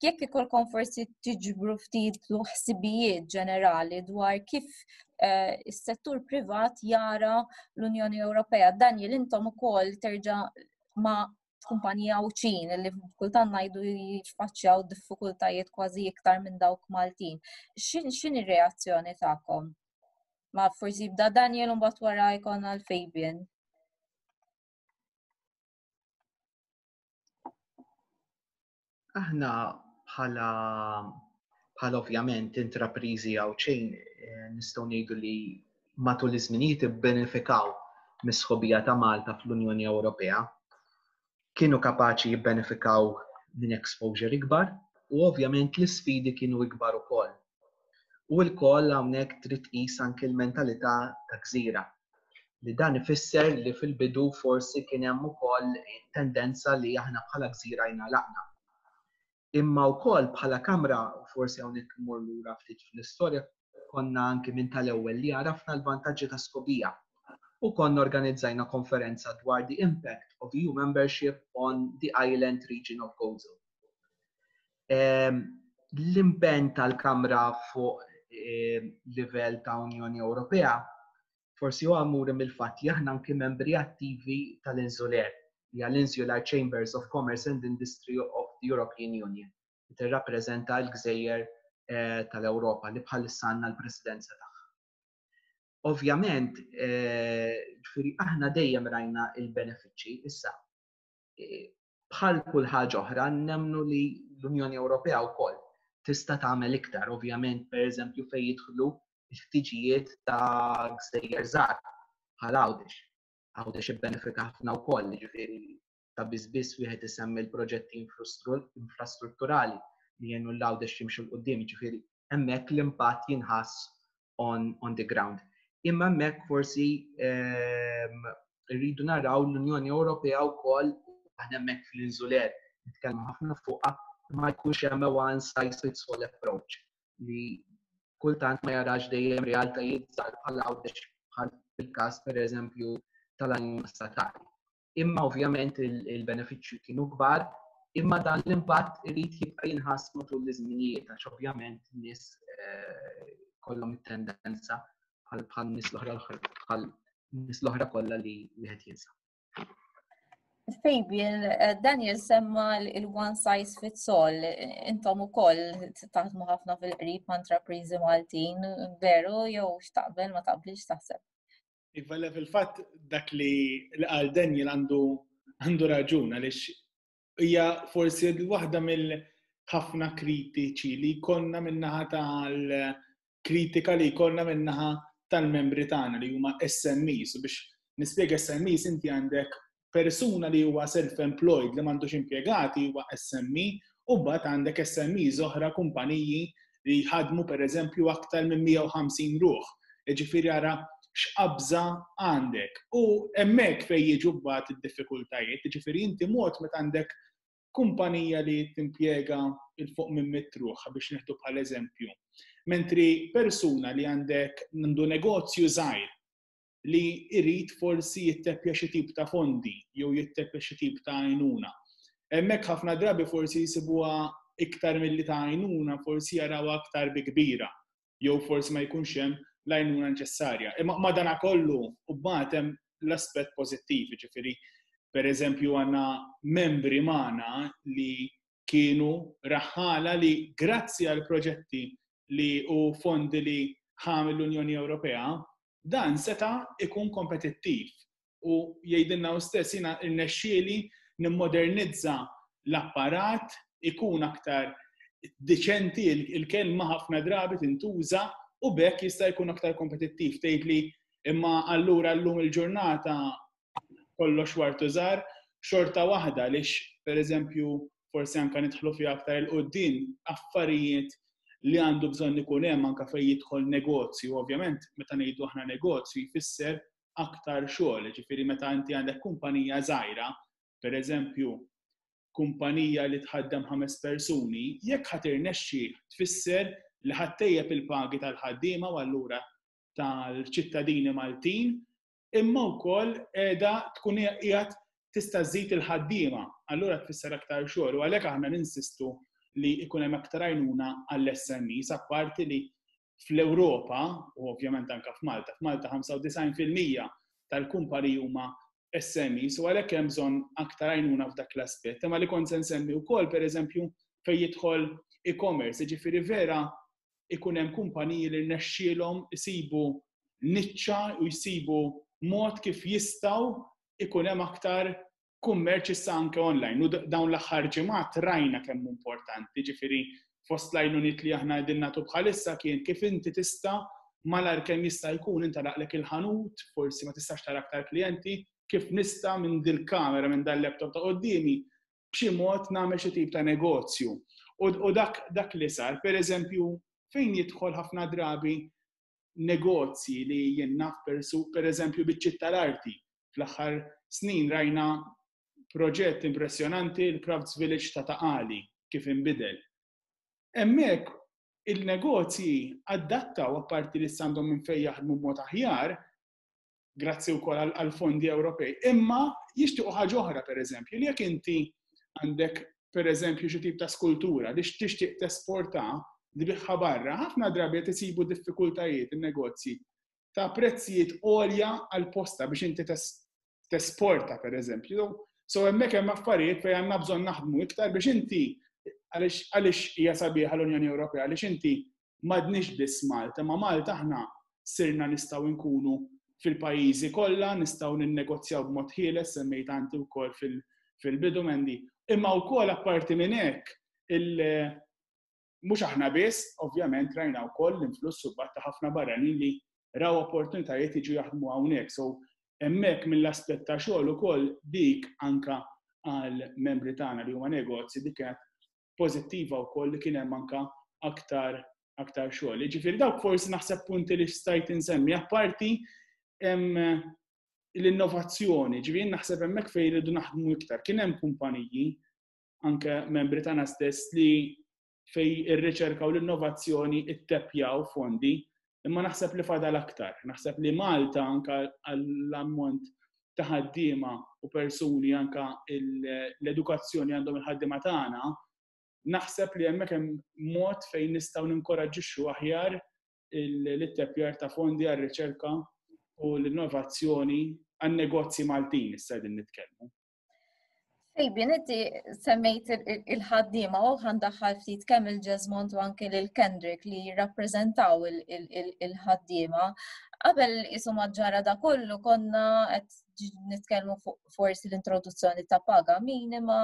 jekk ikolkom forsi tiġbru ftit ħsibijiet ġenerali dwar kif eh, is-settur privat jara l-Unjoni Ewropea. Daniel, intom ukoll terġa' ma' kumpanija Għawdxin li kultant ngħidu jiffaċċjaw diffikultajiet kważi iktar minn dawk Maltin. X'in ir-reazzjoni tagħkom? Ma forsi jibda Daniel u mbagħad wara jkollna l-Fabian. Aħna bħala bħala ovvjament intrapriżi Għawdxin eh, nistgħu ngħidu li matul iż-żminijiet ibbenefikaw mis-sħobija ta' Malta fl-Unjoni Ewropea. Kienu kapaċi jibbenefikaw minn exposure ikbar u ovvjament l-isfidi kienu ikbar ukoll. U lkoll hawnhekk trid tqis anki l-mentalità ta' gżira. Li dan ifisser li fil-bidu forsi kien hemm ukoll tendenza li aħna bħala gżira jingħalaqna. Imma wkoll bħala Kamra, u forsi hawnhekk immur lura ftit fl-istorja, konna anki minn tal-ewwel li għarafna l-vantaġġi ta' sħubija u konna organizzajna konferenza dwar the impact of E U membership on the island region of Gozo. L-impenn tal-Kamra fuq livell ta' Unjoni Ewropea forsi huwa muri mill-fatt li aħna anki membri attivi tal-INSULEUR, hija l-Insular Chambers of Commerce and Industry of the European Union, li tirrappreżenta l-gżejjer tal-Ewropa li bħalissa għandna l-presidenza tagħha. Ovvjament, ġifieri aħna dejjem rajna il-benefiċċji issa. Bħal kull ħaġa oħra nemmnu li l-Unjoni Ewropea wkoll tista' tagħmel iktar, ovvjament pereżempju fejn jidħlu l-ħtiġijiet ta' gżejjer żgħar bħal Għawdex. Għawdex ibbenefika ħafna wkoll, ġifieri ta' biss biss wieħed isemmi l-proġetti infrastrutturali li jgħinu l-Għawdex jimxu 'l quddiem, ġifieri hemmhekk l-impatt jinħass on, on the ground. Imma hemmhekk forsi rridu naraw l-Unjoni Ewropea wkoll, aħna hemmhekk fl-INSULEUR nitkellmu ħafna fuqha, ma jkunx hemm one size fits all approach li kultant ma jarax dejjem realtajiet żgħar bħal Għawdex, bħal fil-każ pereżempju tal-għajnuna statali. Imma ovvjament il-benefiċċju kienu kbar, imma dan l-impatt irid jibqa' jinħass matul iż-żminijiet għax ovvjament nies kollhom it-tendenza bħal bħal nies l-oħra bħal nies l-oħra kollha li wieħed jinsa. Fabian, Daniel semma il-one size fits all, intom ukoll taħdmu ħafna fil-qrib ma' intrapriżi Maltin, veru jew x'taqbel ma taqbilx taħseb? Iva, le, fil-fatt dak li qal Daniel għandu għandu raġun għaliex hija forsi waħda mill-ħafna kritiċi li jkollna min-naħa tal-kritika li jkollna min-naħa tal-membri tagħna li huma S M Es. U biex nispjega S M Es, inti għandek persuna li huwa self-employed li m'għandux impjegati huwa S M E, u mbagħad għandek S M Es oħra kumpaniji li jħadmu pereżempju aktar minn mija u ħamsin ruħ. Jiġifieri ara x'qabża għandek. U hemmhekk fejn jiġu mbagħad id-diffikultajiet, jiġifieri inti mod meta għandek kumpanija li timpjega il fuq minn mitt ruħ biex nieħdu bħal eżempju. Mentri persuna li għandek għandu negozju żgħir li jrid forsi jitteppja xi tip ta' fondi jew jitteppja xi tip ta' għajnuna. Hemmhekk ħafna drabi forsi jsibuha iktar milli ta' għajnuna, forsi jarawha aktar bi kbira jew forsi ma jkunx hemm l-għajnuna neċessarja. Imma madanakollu u mbagħad hemm l-aspett pożittiv, jiġifieri pereżempju għandna membri magħna li kienu raħħala li grazzi għal proġetti li u fondi li ħa mill-Unjoni Ewropea, dan seta' ikun kompetittiv. U jgħidilna hu stess jiena rnexxieli nimmodernizza l-apparat, ikun aktar diċenti, il-kelma ħafna drabi tintuża u bekk jista' jkun aktar kompetittiv. Tgħid li imma allura llum il-ġurnata kollox wartu żgħar, xorta waħda għaliex pereżempju forsi anke nidħlu fiha aktar il quddiem affarijiet li għandu bżonn ikun hemm anke fejn jidħol negozju. Ovvjament meta ngħidu aħna negozju jfisser aktar xogħol, jiġifieri meta inti għandek kumpanija żgħira, pereżempju kumpanija li tħaddem ħames persuni, jekk ħa tirnexxi tfisser li ħa ttejjeb il-pagi tal-ħaddiema u allura tal-ċittadini Maltin, imma wkoll qiegħda tkun qiegħed tista' żżid il-ħaddiema, allura tfisser aktar xogħol u għalhekk aħna ninsistu li jkun hemm aktar għajnuna għall-S M Es, apparti li fl-Ewropa, u ovvjament anke f'Malta, f'Malta ħamsa u disgħin fil-mija tal-kumpaniji huma S M Es, u għalhekk hemm bżonn aktar għajnuna f'dak l-aspett. Imma li kont se nsemmi wkoll, pereżempju, fejn jidħol e-commerce, jiġifieri vera ikun hemm kumpaniji li rnexxielhom isibu niċċa u jsibu mod kif jistgħu ikun hemm aktar kummerċ issa anke online. U dawn l-aħħar ġimgħat rajna kemm hu importanti, ġifieri fost l-għajnuniet li aħna qegħdin nagħtu bħalissa kien kif inti tista' malar kemm jista' jkun inta laqlek il-ħanut, forsi ma tistax tara aktar klijenti, kif nista' minn dil-kamera, minn dal-laptop ta' quddiemi, b'xi mod nagħmel xi tip ta' negozju. U, u dak, dak li sar, per eżempju, fejn jidħol ħafna drabi negozji li jien naf persu, per eżempju, biċ-ċitt tal-arti. Fl-aħħar snin rajna proġett impressjonanti, il-Crafts Village ta' Ta' Qali, kif inbidel. Hemmhekk il-negozji adattaw, apparti li għandhom minn fejn jaħdmu b'mod aħjar, grazzi wkoll għal fondi Ewropej. Imma jixtiequ ħaġa oħra, pereżempju, li jekk inti għandek, pereżempju, xi tip ta' skultura li tixtieq tesporta, tbigħha barra, ħafna drabi qed isibu diffikultajiet in-negozji ta' prezzijiet għolja għal posta biex inti tesporta, pereżempju. So hemmhekk hemm affarijiet fejn għandna bżonn naħdmu iktar biex inti, għaliex hija sabiħa l-Unjoni Ewropea, għaliex inti m'għadniex biss Malta, ma Malta aħna sirna nistgħu nkunu fil-pajjiżi kollha, nistgħu ninnegozjaw b'mod ħieles, semmejt anti wkoll fil-bidu, Mandy. Imma wkoll apparti minn hekk, mhux aħna biss, ovvjament rajna wkoll l-influss ta' ħafna barranin li raw opportunitajiet jiġu jaħdmu hawnhekk. So hemmhekk mill-aspett ta' xogħol ukoll dik anka għal membri tagħna li huma negozji, dik kienet pożittiva wkoll li kien hemm anka aktar aktar xogħol. Ġifieri dawk forsi naħseb punti li stajt insemmi. Apparti l-innovazzjoni, ġifieri naħseb hemmhekk fejn irridu naħdmu iktar. Kien hemm kumpaniji, anke membri tagħna stess, li fej ir-riċerka u l-innovazzjoni ittepjaw fondi, imma naħseb li fadal aktar. Naħseb li Malta, anka għall-ammont ta' ħaddiema u persuni, anka l-edukazzjoni għandhom il-ħaddiema tagħna, naħseb li hemmhekk hemm mod fejn nistgħu ninkoraġġixxu aħjar l-ittepjar ta' fondi għar-riċerka u l-innovazzjoni għan-negozji Maltin issa qegħdin nitkellmu. Fabian, inti semmejt il-ħaddiema u ħa ndaħħal ftit kemm il-Jesmond u anke lil Kendrick li jirrappreżentaw il-ħaddiema. Qabel isu ġara da kollu konna qed nitkellmu fuq forsi l-introduzzjoni ta' paga minima,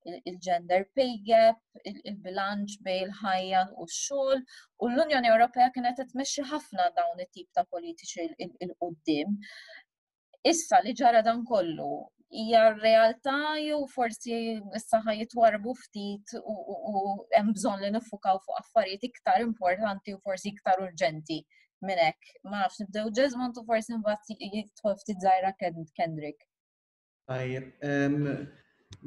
il-gender pay gap, il-bilanċ bejn il-ħajja u x-xogħol, u l-Unjoni Ewropea kienet qed tmexxi ħafna dawn it-tip ta' politiċi 'l quddiem. Issa li ġara dan kollu, hija realtà jew forsi issa ħa jitwarbu ftit u hemm bżonn li niffukaw fuq affarijiet iktar importanti u forsi iktar urġenti minn hekk? Ma nafx, nibdew Jesmond u forsi mbagħad jidħol ftit żgħira Kendrick. Tajjeb,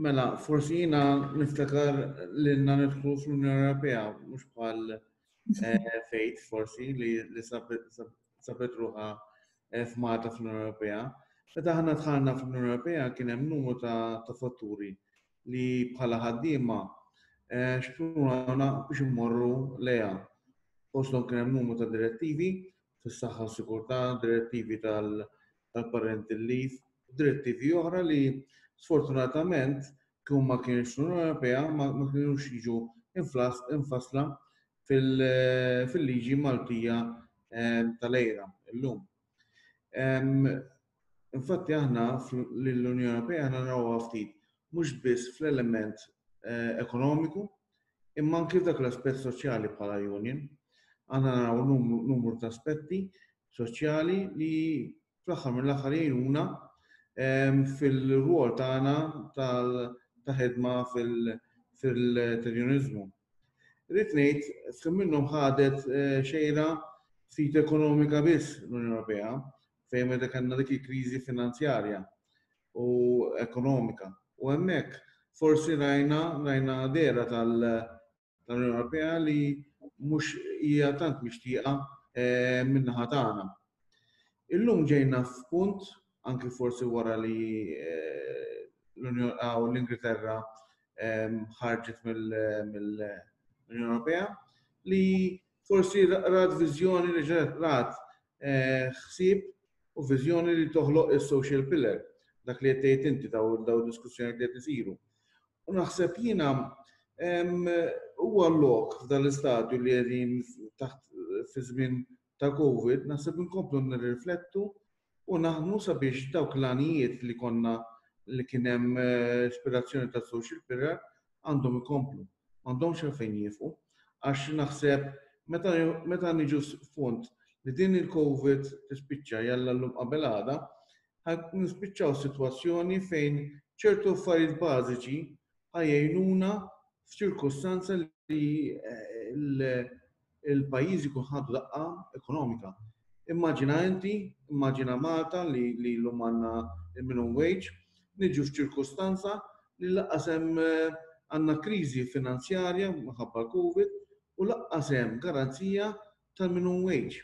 mela, forsi jiena niftakar li nidħlu fl-Unjoni Ewropea, mhux bħal eh, Faith forsi li sabet ruħha eh, f'Malta fl-Unjoni Ewropea. Meta aħna dħalna fl-Unjoni Ewropea kien hemm numru ta' fatturi li bħala ħaddiema eh, xprunawna biex immorru lejha. Fosthom kien hemm numru ta' direttivi fis-saħħa u sigurtà, direttivi tal-parental leave, direttivi oħra li sfortunatament kieku ma kienx l-Unjoni Ewropea ma kienux jiġu infasla fil-liġi Maltija eh, tal-EIRA illum. Infatti aħna l-Unjoni Ewropea aħna narawha ftit mhux biss fl-element eh, ekonomiku, imma anki f'dak l-aspett soċjali bħala union. Aħna naraw numru ta' aspetti soċjali li fl-aħħar mill-aħħar jgħinuna ehm, fil-rwol tagħna ta' ħidma fil-trejdjuniżmu. Rrid ngħid, f'ħin minnhom ħadet eh, xejra ftit ekonomika biss l-Unjoni Ewropea, fejn meta kellna dik il-kriżi finanzjarja u ekonomika. U hemmhekk forsi rajna rajna dehra tal-Unjoni Ewropea li mhux hija tant mixtieqa eh, min-naħa tagħna. Illum ġejna f'punt, anki forsi wara li eh, l-Ingilterra eh, ħarġet mill-Unjoni Ewropea, li forsi rat viżjoni, li rat ħsieb u viżjoni li toħloq il-social pillar, dak li qed inti daw daw diskussjoni li qed isiru. U naħseb jiena huwa lok f'dan l-istadju li qegħdin taħt fi żmien ta' Covid, naħseb inkomplu nirriflettu u naħdmu sabiex dawk l-għanijiet li konna li kien hemm eh, ispirazzjoni ta' social pillar għandhom ikomplu. M'għandhomx għalfejn jieqfu, għax naħseb meta niġu f'punt li din il-Covid tispiċċa, jalla l-lum qabel għada, nispiċċaw situazzjoni fejn ċertu affarijiet bażiċi ħa jgħinuna f'ċirkustanza li eh, il-pajjiż ikun ħadu daqqa ekonomika. Immaġina inti, immaġina Malta li li llum għandna il-minimum wage, niġu f'ċirkustanza li lanqas hemm eh, Għandna kriżi finanzjarja minħabba l-Covid u lanqas hemm garanzija tal-minimum wage.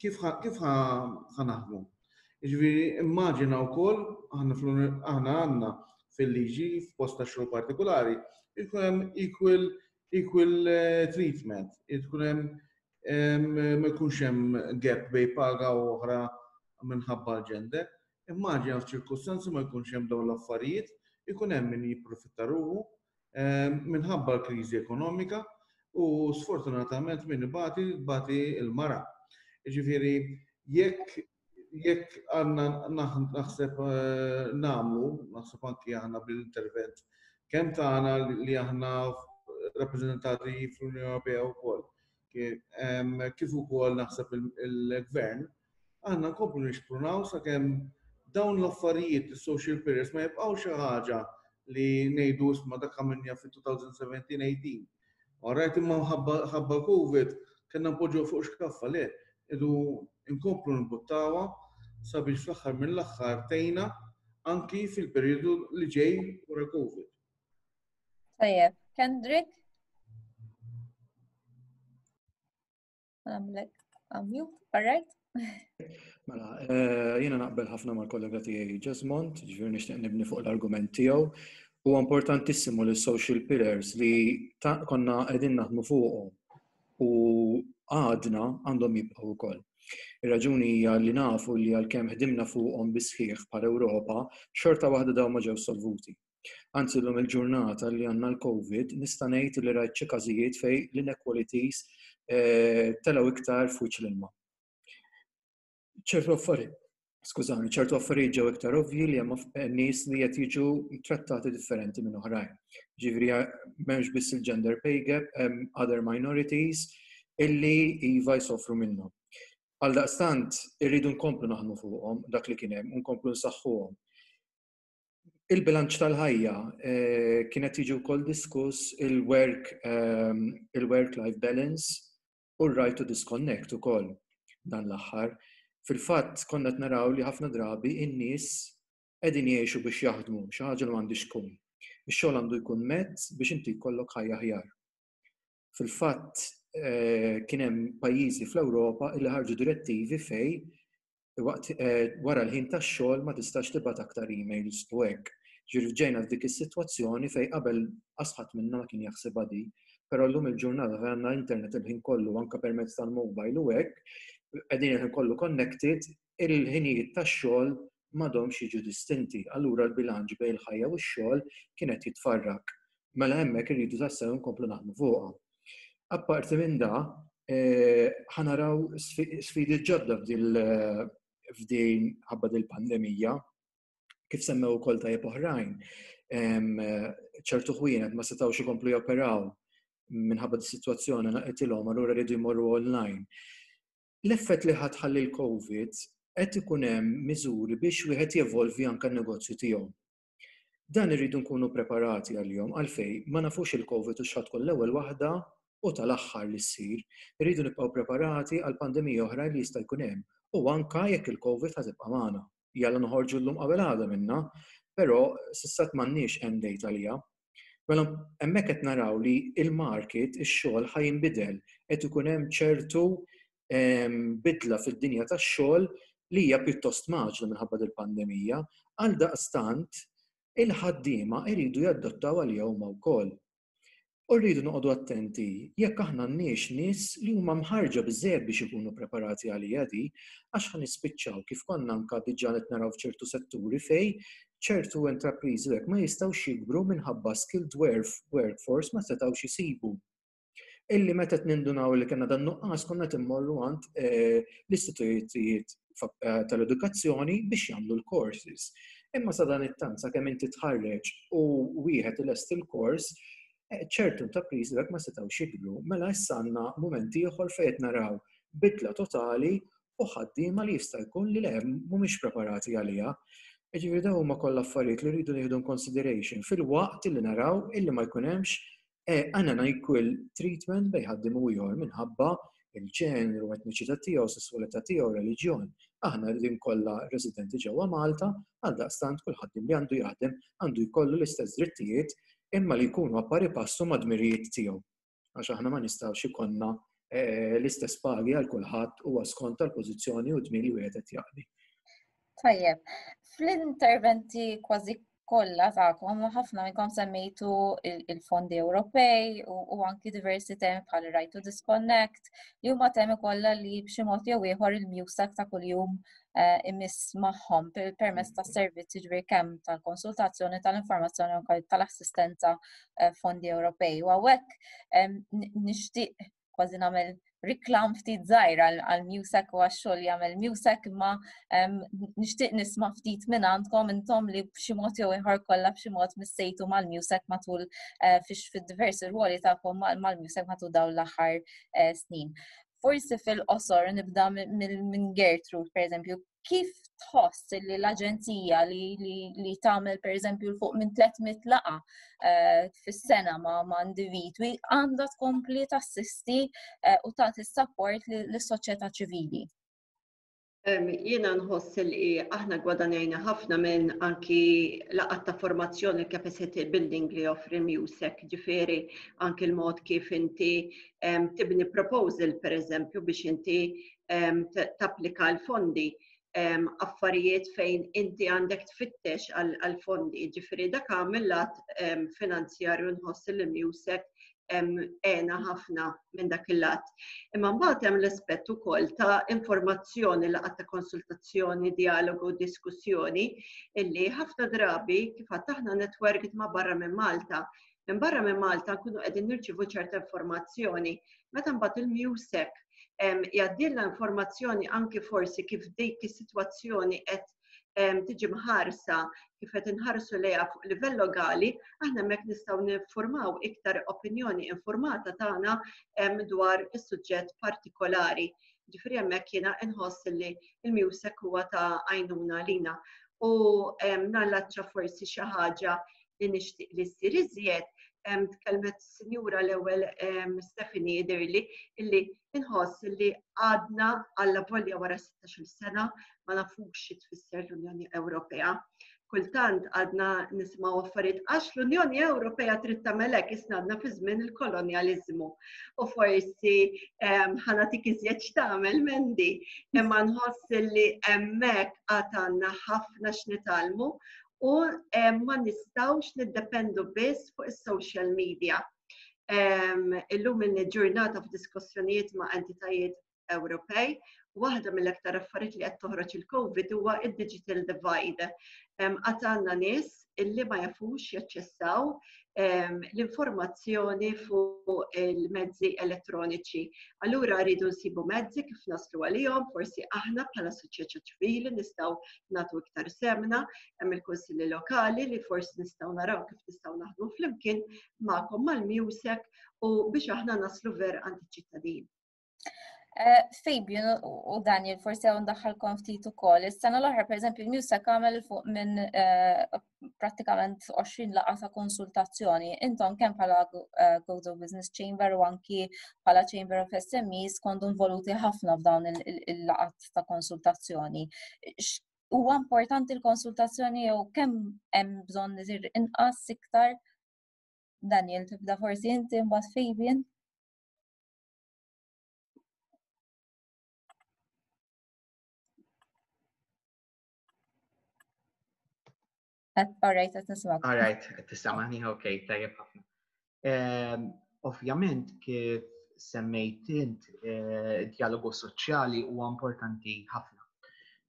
Kif kif ħa naħdmu? Ġifieri immaġina wkoll aħna aħna għandna fil-liġi f'post ta' xogħol partikolari jkun hemm equal equal eh, treatment, jkun hemm ma jkunx hemm gap bejn paga u oħra minħabba l-gender. Immaġina f'ċirkustanzi ma jkunx hemm dawn l-affarijiet, ikun hemm min jipprofitta ruħu minħabba l-kriżi ekonomika u sfortunatament min ibati bati il-mara. Ġifieri jekk jekk għandna naħseb eh, nagħmlu, naħseb anki aħna bil-intervent kemm tagħna li aħna rappreżentati fl-Unjoni Ewropea wkoll, kif ukoll naħseb il-gvern, għandna nkomplu nixprunaw sakemm dawn l-affarijiet, il-social pillars, ma jibqgħu xi ħaġa li ngħidu isma' dak għamilna fit-elfejn u sbatax-tmintax. Alright, imma ħabba Covid kellna npoġġu fuq xkaffa le, idu nkomplu nbuttawha sabiex fl-aħħar mill-aħħar tgħinna anki fil-periodu li ġej wara Covid. Tajjeb, Kendrick? Għamlek unmute, all right? Mela, eh, jiena naqbel ħafna mal-kollega tiegħi Jesmond, ġifieri nixtieq nibni fuq l-argument tiegħu. Huwa importantissimu li social pillars li konna qegħdin naħdmu fuqhom u għadna għandhom jibqgħu wkoll. Ir-raġuni hija li nafu li għalkemm ħdimna fuqhom bisħiħ bħal Ewropa, xorta waħda dawn ma ġew solvuti. Anzi llum il-ġurnata li għandna l-Covid nista' ngħid li rajt xi każijiet fejn l-inequalities eh, telgħu iktar fuq l-ilma. ċertu affarijiet, skużani, ċertu affarijiet ġew iktar ovvji li hemm nies li qed jiġu trattati differenti minn oħrajn. Ġifieri m'hemmx biss il-gender pay gap, hemm other minorities illi iva jsofru minnhom. Għaldaqstant, irridu nkomplu naħdmu fuqhom dak li kien hemm, nkomplu nsaħħuhom. Il-bilanċ tal-ħajja eh, kienet jiġi wkoll diskuss il-work ehm, il-work-life balance u r-right to disconnect ukoll dan l-aħħar. Fil-fatt konna naraw li ħafna drabi in-nies qegħdin jgħixu biex jaħdmu, xi ħaġa li m'għandix tkun. Ix-xogħol għandu jkun mezz biex inti jkollok ħajja aħjar. Fil-fatt eh, kien hemm pajjiżi fl-Ewropa li ħarġu direttivi fejn waqt eh, wara l-ħin tax-xogħol ma tistax tibgħat aktar emails u hekk. Ġifieri ġejna f'dik is-sitwazzjoni fejn qabel ħadd minna ma kien jaħsibha di, però llum il-ġurnata fejn għandna internet il-ħin kollu anke permezz tal-mobile u hekk, qegħdin il-ħin kollu connected, il-ħinijiet tax-xogħol m'għadhomx jiġu distinti. Allura l-bilanċ bejn il-ħajja u x-xogħol kienet jitfarrak. Mela hemmhekk irridu tassew nkomplu naħdmu fuqha. Apparti minn da, eh, ħa naraw sfidi ġodda f'din ħabba dil-pandemija, kif semmew ukoll tajjeb oħrajn. Ċertu ħwienet ma setgħux ikomplu joperaw minħabba di-sitwazzjoni naqetilhom allura rridu jmorru online. L-effett li ħa tħalli l-Covid qed ikun hemm miżuri biex wieħed jevolvi anke n-negozju tiegħu. Dan irridu nkunu preparati għalihom għalfejn ma nafux il-Covid u x'ħa tkun l-ewwel waħda u tal-aħħar li ssir. Irridu nibqgħu preparati għal pandemija oħra li jista' jkun hemm u anka jekk il-Covid ħa tibqa' magħna. Jalla noħorġu llum qabel għada minna, però s'issa m'għandniex end date għalija. Mela hemmhekk qed naraw li il-market, ix-xogħol ħa jinbidel, qed ikun hemm ċertu bidla fid-dinja tax-xogħol li hija pjuttost mgħaġġla minħabba dil-pandemija, għal daqstant il-ħaddiema iridu jaddottaw għalija huma wkoll. U rridu noqogħdu attenti jekk aħna għandniex nies li huma mħarġa biżżejjed biex ikunu preparati għalija di, għax ħa nispiċċaw kif konna anka diġà qed naraw f'ċertu setturi fejn ċertu intrapriżi hekk ma jistgħux jikbru minħabba skilled workforce ma setgħux jisibu. Illi meta nindunaw li kellna dan nuqqas konna immorru għand eh, l-istitutijiet eh, tal-edukazzjoni biex jagħmlu l-courses. Imma sa dan it-tant sakemm inti tħarreġ u wieħed ilest il-kors, eh, ċertu intrapriżi dak ma setgħux jikbru. Mela issa għandna mument ieħor fejn qed naraw bidla totali u ħaddiema li jista' jkun li le mhumiex preparati għaliha. Ġifieri dawn huma kollha affarijiet li rridu nieħdu consideration fil-waqt li naraw illi ma jkun hemmx unequal treatment bejn ħaddiem u ieħor minħabba il-ġeneru, etniċità tiegħu, sesswalità tiegħu, reliġjon. Aħna rridin kollha residenti ġewwa Malta, għal daqstant kull ħaddiem li għandu jaħdem għandu jkollu l-istess drittijiet imma li jkunu a pari passu ma' dmirijiet tiegħu. Għax aħna ma nistgħux ikollna eh, l-istess pagi għal kulħadd huwa skont tal-pożizzjoni u dmir li wieħed qed jaqdi. Tajjeb, fl-interventi kważi kollha tagħkom ħafna minnkom semmejtu il-fondi Ewropej u anki diversi temi bħal right to disconnect li huma temi kollha li b'xi mod jew ieħor il-MUSEC ta' kuljum eh, imiss magħhom permezz ta' servizzi ġbir kemm tal-konsultazzjoni tal-informazzjoni u tal-assistenza eh, fondi Ewropej. U hawnhekk nixtieq kważi nagħmel riklam ftit żgħir għal MUSEC u għax-xogħol jagħmel MUSEC imma nixtieq nisma' ftit minn għandkom intom li b'xi mod jew ieħor kollha b'xi mod missejtu mal-MUSEC matul eh, fix fid-diversi rwoli tagħkom mal-MUSEC matul dawn l-aħħar eh, snin. Forsi fil-qosor nibda minn Gertrude, per eżempju, kif tħoss li l-aġenzija li, li, li tagħmel per eżempju fuq minn tliet mitt laqgħa uh, fis-sena ma', ma' individwi għandha tkompli tassisti uh, u tagħti support lis-soċjetà ċivili? Jiena nħoss li aħna gwadanjajna ħafna minn anki laqgħat ta' formazzjoni, capacity building li joffri MUSEC, ġifieri anki l-mod kif inti tibni proposal, per eżempju, biex inti tapplika l-fondi, affarijiet fejn inti għandek tfittex għal-fondi, ġifieri dak mill-lat finanzjarju nħoss li MUSEC għena ħafna minn dak il-lat. Imma mbagħad hemm l-aspett ukoll ta' informazzjoni, laqgħat ta' konsultazzjoni, dialogu, diskussjoni, illi ħafna drabi kif għad aħna network ma' barra minn Malta. Minn barra minn Malta nkunu qegħdin nirċievu ċerta informazzjoni. Meta mbagħad il-MUSEC jgħaddilna informazzjoni anki forsi kif dik is-sitwazzjoni qed tiġi mħarsa, kif qed inħarsu lejha fuq livell lokali, aħna hemmhekk nistgħu niffurmaw iktar opinjoni informata tagħna dwar is-suġġett partikolari. Ġifieri hemmhekk jiena inħoss li l-MUSEC huwa ta' għajnuna lina. U nallaċċa forsi xi ħaġa li nixtieq li ssir iżjed, tkellmet sinjura l-ewwel Stephanie Idirli, illi inħoss li għadna għalla volja wara sittax-il sena ma nafux xi tfisser l-Unjoni Ewropea. Kultant għadna nisimgħu affarijiet għax l-Unjoni Ewropea trid tagħmel hekk, isna għadna fi żmien il-kolonjaliżmu. U forsi ħanatik iżjed x'tagħmel Mandy, imma nħoss li hemmhekk għad għandna ħafna x'nitgħallmu u ma nistgħux niddependu biss fuq is-social media. Illum il-ġurnata f'diskussjonijiet ma' entitajiet Ewropej, waħda mill-aktar affarijiet li qed toħroġ il-COVID huwa id-digital divide. Għad għandna nies illi ma jafux jaċċessaw l-informazzjoni fuq il-mezzi elettroniċi. Allura rridu nsibu mezzi kif naslu għalihom, forsi aħna bħala soċjetà ċivili nistgħu nagħtu iktar semna, hemm il-kunsilli lokali li forsi nistgħu naraw kif nistgħu naħdmu flimkien magħkom mal-MUSEC u biex aħna naslu ver għand iċ-ċittadin. Eh, Fabian u Daniel, forsi hawn daħħalkom ftit ukoll. Is-sena l-oħra, pereżempju, il-MUSEC għamel fuq minn, eh, prattikament għoxrin laqgħa ta' konsultazzjoni. Intom kemm bħala, eh, Gozo Business Chamber u anki bħala Chamber of S M Es kontu involuti ħafna f'dawn il-, il-, il-laqgħat ta' konsultazzjoni. X-, huwa importanti l-konsultazzjoni jew kemm hemm bżonn isir inqas iktar? Daniel, tibda forsi inti mbagħad Fabian. All right, qed nismak. All right, qed tismani, ok, tajjeb ħafna. Ehm, ovvjament, kif semmejt int, eh, dialogu soċjali huwa importanti ħafna.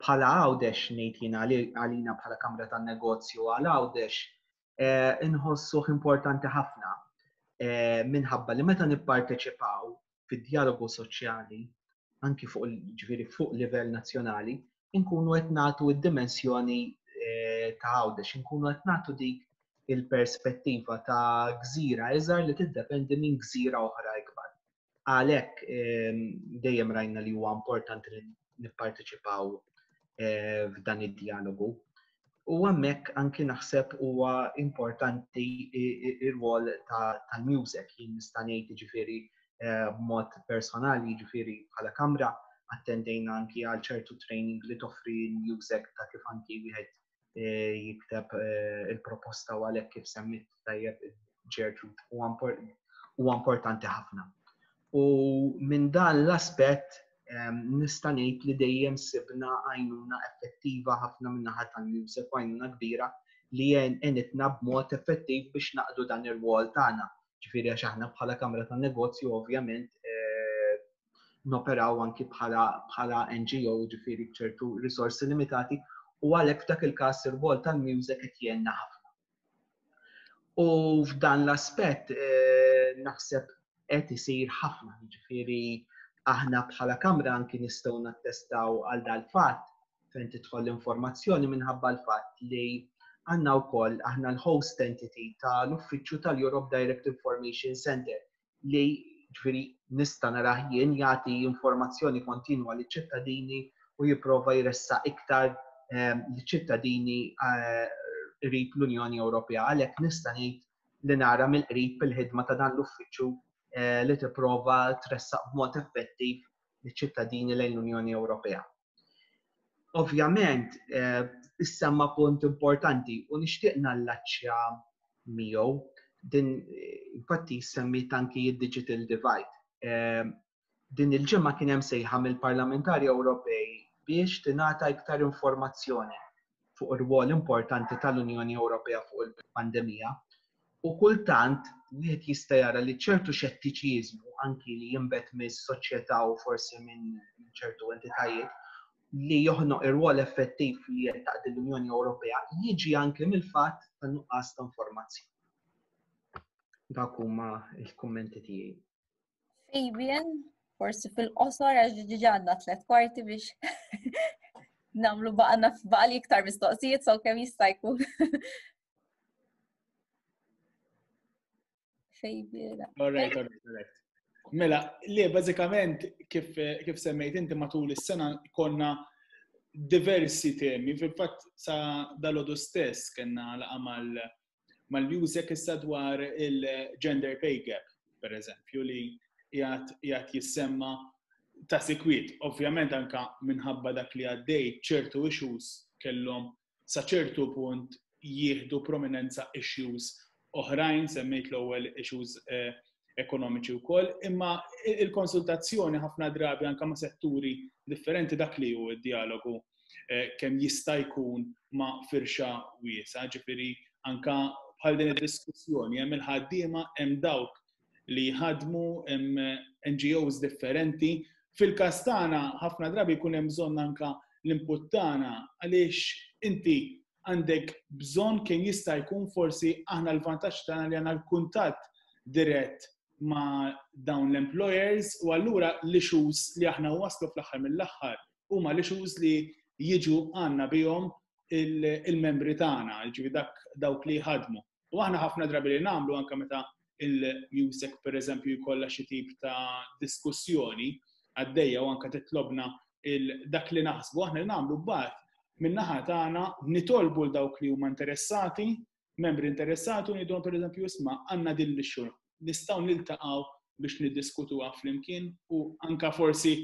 Bħala Għawdex ngħid jiena għalina bħala Kamra tan-Negozju għal Għawdex, eh, inħossuh importanti ħafna, eh, minħabba li meta nipparteċipaw fid-dialogu soċjali, anki fuq ġifieri fuq livell nazzjonali, inkunu qed nagħtu d-dimensjoni, eh, ta' Għawdex, inkunu qed nagħtu dik il-perspettiva ta' gżira iżgħar li tiddependi minn gżira oħra ikbar. Għalhekk, ehm, dejjem rajna li huwa importanti li nipparteċipaw, eh, f'dan id-dialogu. U hemmhekk anki naħseb huwa importanti i-, i-, ir-rwol ta', tal-MUSEC. Jien nista' ngħid jiġifieri, eh, b'mod personali, jiġifieri bħala kamra, attendejna anki għal ċertu training li toffri l-MUSEC ta' kif anki wieħed, eh, jikteb, eh, il-proposta u għalhekk kif semmit tajjeb Gertrude, huwa importanti ħafna. U minn dan l-aspett nista' ngħid li dejjem sibna għajnuna effettiva ħafna minn naħa tal-MEUSAC u għajnuna kbira li għenitna b'mod effettiv biex naqdu dan ir-rwol tagħna. Ġifieri għax aħna bħala Kamra tan-Negozju ovvjament eh, noperaw anki bħala, bħala N G O, ġifieri b'ċertu risorsi limitati, u għalhekk f'dak il-każ ir-rwol tal-MEUSAC qed jgħinna ħafna. U f'dan l-aspett eh, naħseb qed isir ħafna, ġifieri aħna bħala Kamra anki nistgħu nattestaw għal dal-fatt fejn tidħol l-informazzjoni minħabba l-fatt li għandna wkoll aħna l-host entity tal-Uffiċċju tal-Europe Direct Information Center li ġifieri nista' narah jien jagħti informazzjoni kontinwa liċ-ċittadini u jipprova jressaq iktar ehm, liċ-ċittadini eh, qrib l-Unjoni Ewropea. Għalhekk nista' ngħid li nara mill-qrib il-ħidma ta' dan l-uffiċċju eh, li tipprova tressaq b'mod effettiv liċ-ċittadini lejn l-Unjoni Ewropea. Ovvjament, eh, issemma punt importanti u nixtieq nallaċċja miegħu din, infatti semmit anki id-digital divide. Eh, din il-ġimgħa kien hemm sejħa mill-parlamentari Ewropej biex tingħata iktar informazzjoni fuq ir-rwol importanti tal-Unjoni Ewropea fuq il-pandemija. U kultant wieħed jista' jara li ċertu xettiċiżmu anki li jinbet mis-soċjetà u forsi minn ċertu entitajiet li joħnoq ir-rwol effettiv li qed taqdi l-Unjoni Ewropea jiġi anke mill-fatt ta' nuqqas ta' informazzjoni. Dak huma l-kummenti tiegħi. Fabian, forsi fil-qosor għax diġà għandna tliet kwarti biex nagħmlu baqgħalna baqali iktar mistoqsijiet, so kemm jista' jkun. Fabian. All right, all right, all right. Mela, li bażikament kif, kif semmejt inti matul is-sena konna diversi temi. Fil-fatt sa dalgħodu stess kellna laqgħa mal mal-MEUSAC issa dwar il-gender pay gap, per eżempju, li qiegħed jissemma ta' sikwit. Ovvjament anka minħabba dak li għaddej ċertu issues kellhom sa ċertu punt jieħdu prominenza issues oħrajn, semmejt l-ewwel issues eh, ekonomiċi wkoll, imma il-konsultazzjoni ħafna drabi anka ma' setturi differenti dak li hu d-dialogu eh, kemm jista' jkun ma' firxa wiesa, ġifieri anka bħal din id-diskussjoni hemm il-ħaddiema, hemm dawk li jħadmu, hemm N G Os differenti. Fil-każ tagħna ħafna drabi jkun hemm bżonn anka l-input tagħna għaliex inti għandek bżonn kemm jista' jkun forsi aħna l-vantaġġ tagħna li għandna l-kuntatt dirett ma' dawn l-employers u allura l-issues li aħna waslu fl-aħħar mill-aħħar huma l-issues li jiġu għandna bihom il-membri tagħna, ġifi dak dawk li jħadmu. U aħna ħafna drabi li nagħmlu anke meta il-MEUSAC per eżempju jkollha xi tip ta' diskussjoni għaddejja u anke titlobna dak li naħsbu aħna li nagħmlu mbagħad min-naħa tagħna nitolbu l dawk li huma interessati, membri interessati u ngħidulhom per eżempju isma' għandna din l-issue nistgħu niltaqgħu biex niddiskutuha flimkien u anka forsi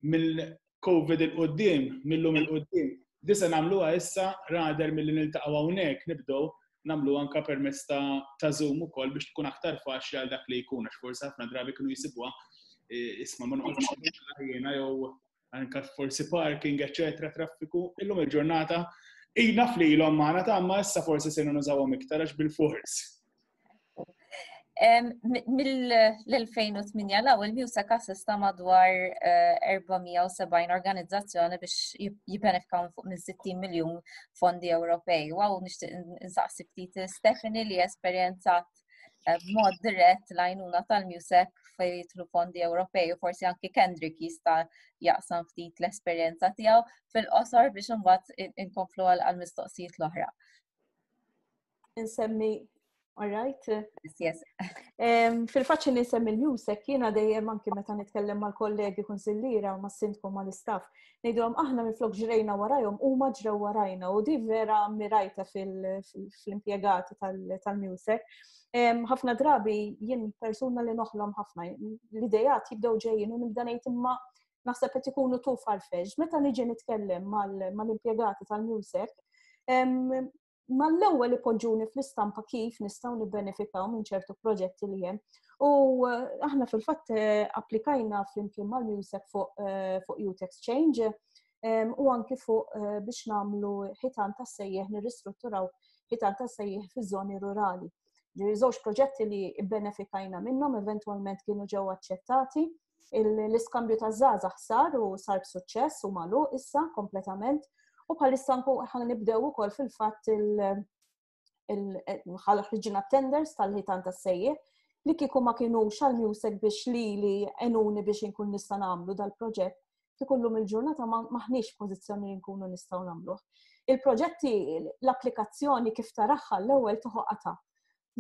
mill-COVID il-qoddim, mill-lum il-qoddim. Disa nagħmluha issa rather milli niltaqgħu hawnhekk nibdew nagħmlu anka permezz ta', ta Zoom ukoll biex tkun aktar faċli għal dak li jkun għax forsi ħafna drabi kienu jisibuha e, isma' ma noqgħodx jiena jew anka forsi parking, eċetera, traffiku, illum il-ġurnata ina flilhom magħna ta' ma issa forsi se nużawhom iktar għax bil-fors. Mill-elfejn u tmienja l il-MEUSAC assista madwar erba' mija u sebgħin eh, organizzazzjoni biex jibbenefikaw fuq minn sittin miljun fondi Ewropej. Wow, nixtieq insaqsi ftit Stephanie li esperjenzat eh, b'mod dirett l-għajnuna tal-MEUSAC fejn jidħlu fondi Ewropej u forsi anki Kendrick jista' jaqsam ftit l-esperjenza tiegħu fil-qosor biex imbagħad inkomplu għal-mistoqsijiet l-oħra. Insemmi. All right. Yes, yes. Fil-fatt nisemmi l-MEUSAC, jiena dejjem anki meta nitkellem mal-kollegi konsillira u mas-sindku mal-istaff, ngħidulhom aħna minflok ġrejna warajhom huma ġrew warajna u di vera mirajta fil-impjegati tal-MEUSAC. Ħafna drabi jien persuna li noħlom ħafna, l-idejat jibdew ġejjin u nibda ngħid imma naħseb qed ikunu too far-fetched. Meta niġi nitkellem mal-impjegati tal-MEUSAC, Mal-ewwel ipoġġuni fl-istampa kif nistgħu nibbenefikaw minn ċertu proġetti li hemm. U eh, aħna fil-fatt eh, applikajna flimkien mal-MEUSAC fuq eh, fuq Youth Exchange u anki fuq biex nagħmlu ħitan ta' sejjeħ, nirristrutturaw ħitan ta' sejjeħ fiż-żoni rurali. Ġifieri żewġ proġetti li bbenefikajna minnhom, eventwalment kienu ġew aċċettati. L-iskambju ta' żgħażagħ sar u sar b'suċċess u magħluq issa kompletament. U bħalissa ħa nibdew ukoll fil-fatt il-ħriġina tenders tal-ħitan tas-sejjeħ li kieku ma kienux għal-MEUSAC biex li li għenuni biex inkun nista' nagħmlu dal-proġett, kieku llum il-ġurnata maħniex pożizzjoni li nkunu nistgħu nagħmluh. Il-proġetti, l-applikazzjoni kif taraha l-ewwel toħoqata.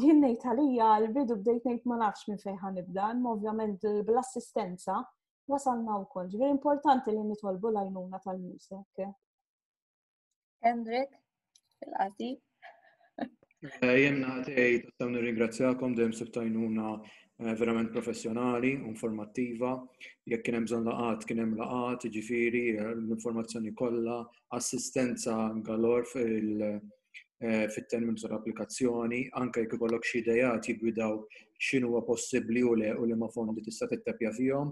Jien ngħid għalija l-bidu bdejt ngħid ma nafx minn fejn ħa nibda, imma ovvjament bl-assistenza wasalna wkoll. Ġifieri importanti li nitolbu l-għajnuna tal-MEUSAC. Hendrik, fil-qasir. Eh, jien għatej, tassew nirringrazzjakom, dejjem sibt għajnuna eh, verament professjonali, informattiva. Jekk kien hemm bżonn laqgħat, kien hemm laqgħat, ġifieri eh, l-informazzjoni kollha, assistenza galor fil- fit-terminu tal-applikazzjoni, anke jekk ikollok xi ideat jiggwidaw x'inhu huwa possibbli u le u li ma fondi tista' tittepja fihom.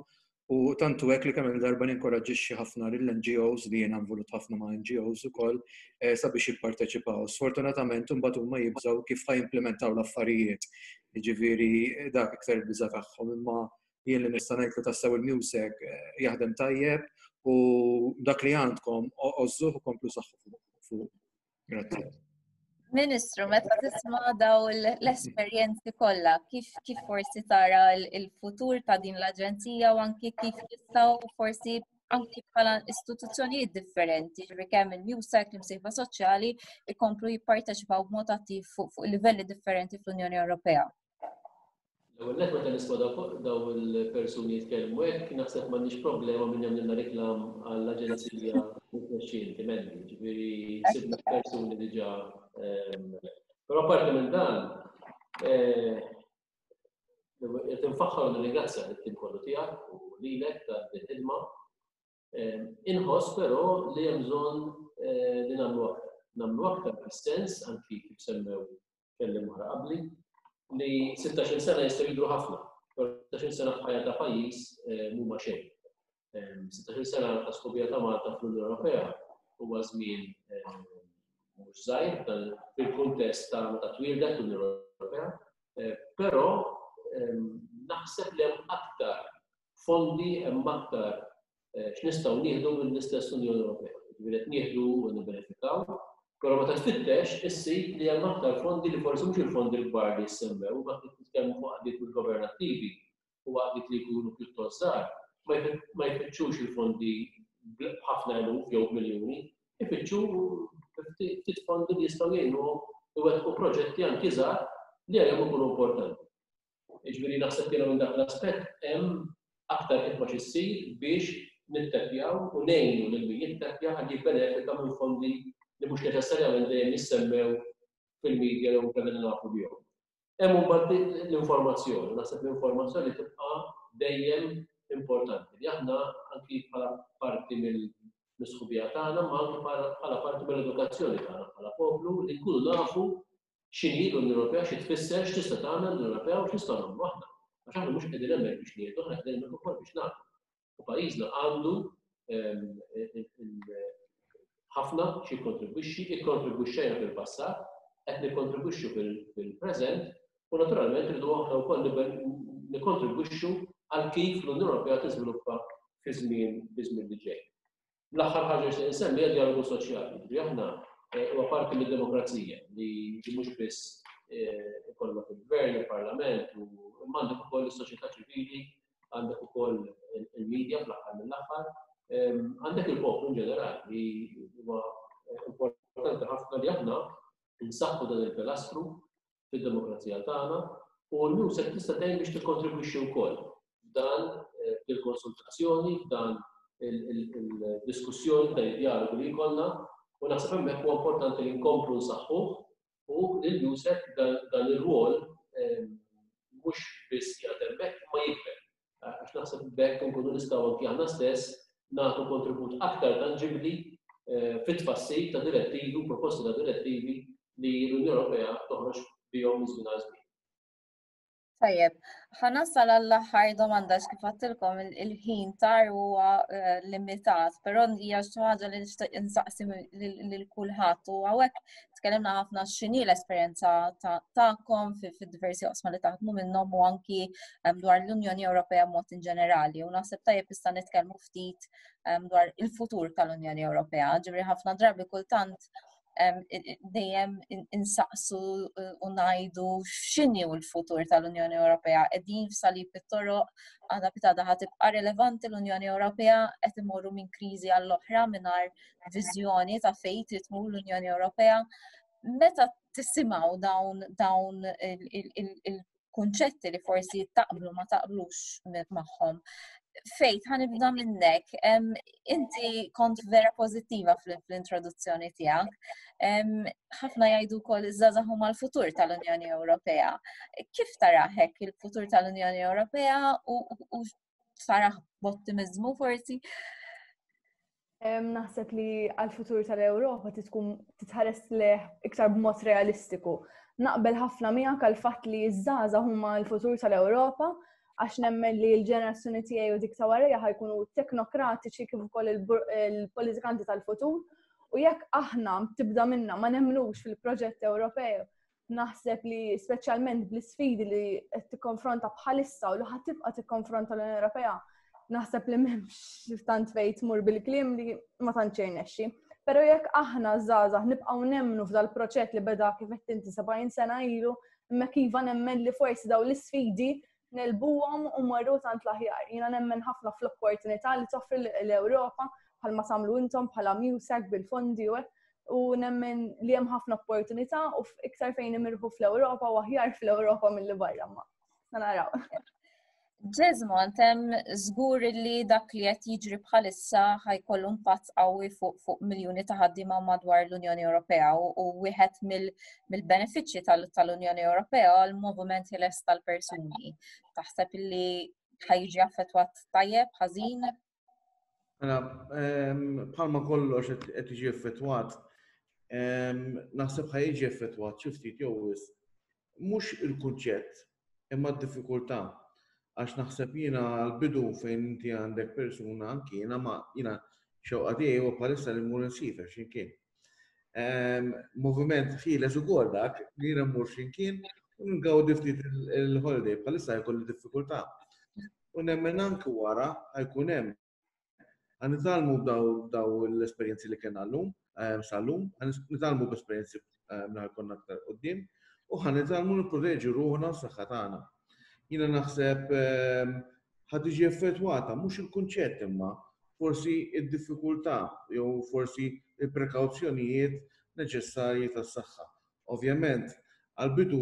U tantu hekk li kemm il-darba ninkoraġġixxi ħafna lill-N G Os, li jiena involut ħafna ma' N G Os ukoll, eh, sabiex jipparteċipaw. Sfortunatament imbagħad huma jibżgħu kif ħa jimplementaw l-affarijiet. Jiġifieri dak iktar il-biża' tagħhom, imma jien li nista' ngħid li tassew il-MEUSAC eh, jaħdem tajjeb u dak li għandkom għożżuh u komplu saħħu fuq. Grazzi. Ministru, meta tisma' daw l-esperjenzi kollha, kif kif forsi tara il-futur ta' din l-aġenzija u anki kif jistgħu forsi anki bħala istituzzjonijiet differenti, ġifieri kemm il-MEUSAC, l-imsieħba soċjali, ikomplu jipparteċipaw b'mod attiv fuq livelli differenti fl-Unjoni Ewropea? L-ewwel nett, meta nisma' daw il-persuni jitkellmu hekk, naħseb m'għandniex problema minn jagħmlilna reklam għall-aġenzija tmexxi Mandy, ġifieri sibna persuni diġà. Ehm, però parti minn dan, eh, qed infaħħar u nirringrazzja lit-tim kollu tiegħek u lilek ta' din ħidma. Ehm, inħoss però li hemm bżonn eh, li nagħmlu aktar. Nagħmlu aktar fis-sens anki kif semmew kelliem oħra qabli li sittax-il sena jistgħu jidhru ħafna, però sittax-il sena f'ħajja ta' pajjiż eh, mhuma xejn. Ehm, sittax-il sena ta' sħubija ta' Malta fl-Unjoni Ewropea huwa żmien mhux żgħir fil-kuntest ta' meta twieldet l-Unjoni Ewropea, eh, però ehm, naħseb li hemm aktar fondi, hemm aktar eh, x'nistgħu nieħdu mill-istess Unjoni Ewropea. Ġifieri qed nieħdu u nibbenefikaw, però meta tfittex issib li hemm aktar fondi li forsi mhux il-fondi l-kbar li jissemmew, ma titkellmu fuq għaqdiet governattivi u għaqdiet li jkunu pjuttost żgħar, ma jfittxux il-fondi b'ħafna eluf jew miljuni, ifittxu ftit fondi li jistgħu jgħinuhom iwettqu proġetti anki żgħar li għalihom ikunu importanti. Jiġifieri naħseb jiena minn dak l-aspett hemm aktar ħidma x'issir biex nittepjaw u ngħinu lil min jittepja ħalli jibbenefika minn fondi li mhux neċessarjament dejjem jissemmew fil-medja jew kellna nafu bihom. Hemm imbagħad l-informazzjoni, naħseb l-informazzjoni tibqa' dejjem importanti li aħna anki bħala parti mill-sħubija tagħna, ma anki bħala parti mill-edukazzjoni tagħna bħala poplu li nkunu nafu x'inhi l-Unjoni Ewropea, xi tfisser, x'tista' tagħmel l-Unjoni Ewropea u x'nistgħu nagħmlu aħna. Għax aħna mhux qegħdin hemmhekk biex nieħdu, aħna qegħdin hemmhekk ukoll biex nagħtu. U pajjiżna għandu ehm, ħafna xi kontribwixxi, ikkontribwixxejna fil-passat, qed nikkontribwixxu fil-preżent u naturalment rridu aħna wkoll nikkontribwixxu għal kif l-Unjoni Ewropea tiżviluppa fi żmien fi żmien li ġej. L-aħħar ħaġa li nsemmi hija dialogu soċjali. Ġifieri aħna eh, huwa parti mid-demokrazija li mhux biss eh, ikollok il-gvern, il-parlament, u għandek ukoll is-soċjetà ċivili, għandek ukoll il-medja fl-aħħar mill-aħħar, għandek il-poplu in ġenerali li huwa importanti ħafna li aħna nsaħħu dan il-pilastru fid-demokrazija tagħna u l-MEUSAC tista' tgħin biex tikkontribwixxi wkoll f'dan eh, il-konsultazzjoni, f'dan il-diskussjoni, dan id-dialogu li jkollna, u naħseb hemmhekk huwa importanti li nkomplu nsaħħuh u li l-MEUSAC dan ir-rwol mhux biss qiegħed hemmhekk ma jikber. Għax naħseb b'hekk nkunu nistgħu anki aħna stess nagħtu kontribut aktar tanġibli eh, fit-tfassil ta' direttivi u proposti ta' direttivi li l-Unjoni Ewropea toħroġ bihom minn żmien għal żmien. Tajjeb, ħa nasal għall-aħħar domanda kif għedtilkom il-ħin tar huwa eh, limitat, però hija xi ħaġa li nixtieq insaqsi lil kulħadd u hawnhekk tkellimna ħafna x'inhi l-esperjenza tagħkom fid-diversi oqsma li taħdmu minnhom u anki dwar l-Unjoni Ewropea mod in ġenerali. U naħseb tajjeb issa nitkellmu ftit dwar il-futur tal-Unjoni Ewropea. Ġifieri ħafna drabi kultant dejjem insaqsu eh, u ngħidu x'inhi l-futur tal-Unjoni Ewropea. Qegħdin f'salib it-toroq, għada pitgħada ħa tibqa' relevanti l-Unjoni Ewropea qed imorru minn kriżi għall-oħra mingħajr viżjoni ta' fejn trid tmur l-Unjoni Ewropea. Meta tisimgħu dawn dawn il-kunċetti li forsi taqblu ma taqblux magħhom, Fejt, ħa nibda minnek. Inti kont vera pozittiva fl-introduzzjoni tiegħek. Ħafna jgħidu wkoll iż-żgħażagħ huma l-futur tal-Unjoni Ewropea. Kif taraħek il-futur tal-Unjoni Ewropea u tarah b'ottimizmu forsi? Naħseb li għal-futur tal-Ewropa tkun titħares lejh iktar b'mod realistiku. Naqbel ħafna miegħek għal-fatt li ż-żgħażagħ huma l-futur tal-Ewropa għax nemmen li l-ġenerazzjoni tiegħi u dik ta' warajja ħa jkunu teknokratiċi kif ukoll il-politikanti tal-futur. U jekk aħna tibda minna ma nemnux fil-proġett Ewropew, naħseb li speċjalment bl-isfidi li qed tikkonfronta bħalissa u li ħa tibqa' tikkonfronta l-Unjoni Ewropea, naħseb li m'hemmx tant fejn tmur bil-kliem li ma tantx jirnexxi. Però jekk aħna żgħażagħ nibqgħu nemmnu f'dal-proġett li beda kif qed inti sebgħin sena ilu, imma kiva nemmen li forsi daw l-isfidi negħlbuhom u mmorru tant l-aħjar. Jiena nemmen ħafna fl-opportunità li toffri l-Ewropa bħalma tagħmlu intom bħala MUSEC bil-fondi u u nemmen li hemm ħafna opportunità u iktar fejn imirħu fl-Ewropa u aħjar fl-Ewropa milli barra ma. Naraw. Jesmond, hemm żgur li dak li qed jiġri bħalissa ħa jkollu impatt qawwi fuq fuq miljuni ta' ħaddiema madwar l-Unjoni Ewropea u wieħed mill-benefiċċji tal-Unjoni Ewropea għal-moviment ħieles tal-persuni. Taħseb li ħa jiġi affettwat tajjeb, ħażin? Mela, bħalma kollox qed jiġi effettwat, naħseb ħa jiġi effettwat xi ftit jew wisq. Mhux il-kunċett, imma d-diffikultà. Għax naħseb jiena l-bidu fejn inti għandek persuna anki jiena ma jiena xewqa tiegħi huwa bħalissa li mmur insiefer x'imkien. Moviment ħieles ukoll dak li jiena mmur x'imkien u ngawdi ftit il-holiday bħalissa jkolli diffikultà. U nemmen anki wara ħa jkun hemm. Ħa nitgħallmu daw l-esperjenzi li kellna llum, sal-lum, ħa nitgħallmu b'esperjenzi li ħa jkollna aktar quddiem u ħa nitgħallmu nipproteġu ruħna u s-saħħa tagħna. Jiena naħseb ħa tiġi effettwata mhux il-kunċett imma forsi id-diffikultà jew forsi il-prekawzjonijiet neċessarji tas-saħħa. Ovvjament, għal-bidu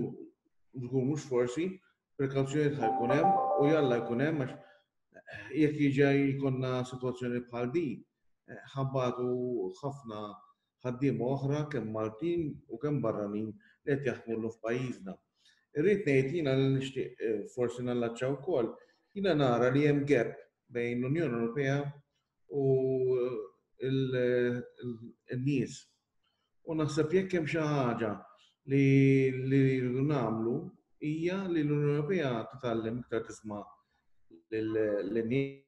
żgur mhux forsi, prekawzjonijiet ħa jkun hemm u jalla jkun hemm għax jekk jiġi jkollna sitwazzjoni bħal di, ħa nbatu ħafna ħaddiema oħra kemm Maltin u kemm barranin li qed jaħdmu llum f'pajjiżna. Irrid ngħid jiena li nixtieq forsi nallaċċa wkoll, jiena nara li hemm gap bejn l-Unjoni Ewropea u n-nies. U naħseb jekk hemm xi ħaġa li rridu nagħmlu hija li l-Unjoni Ewropea titgħallem iktar tisma' lin-nies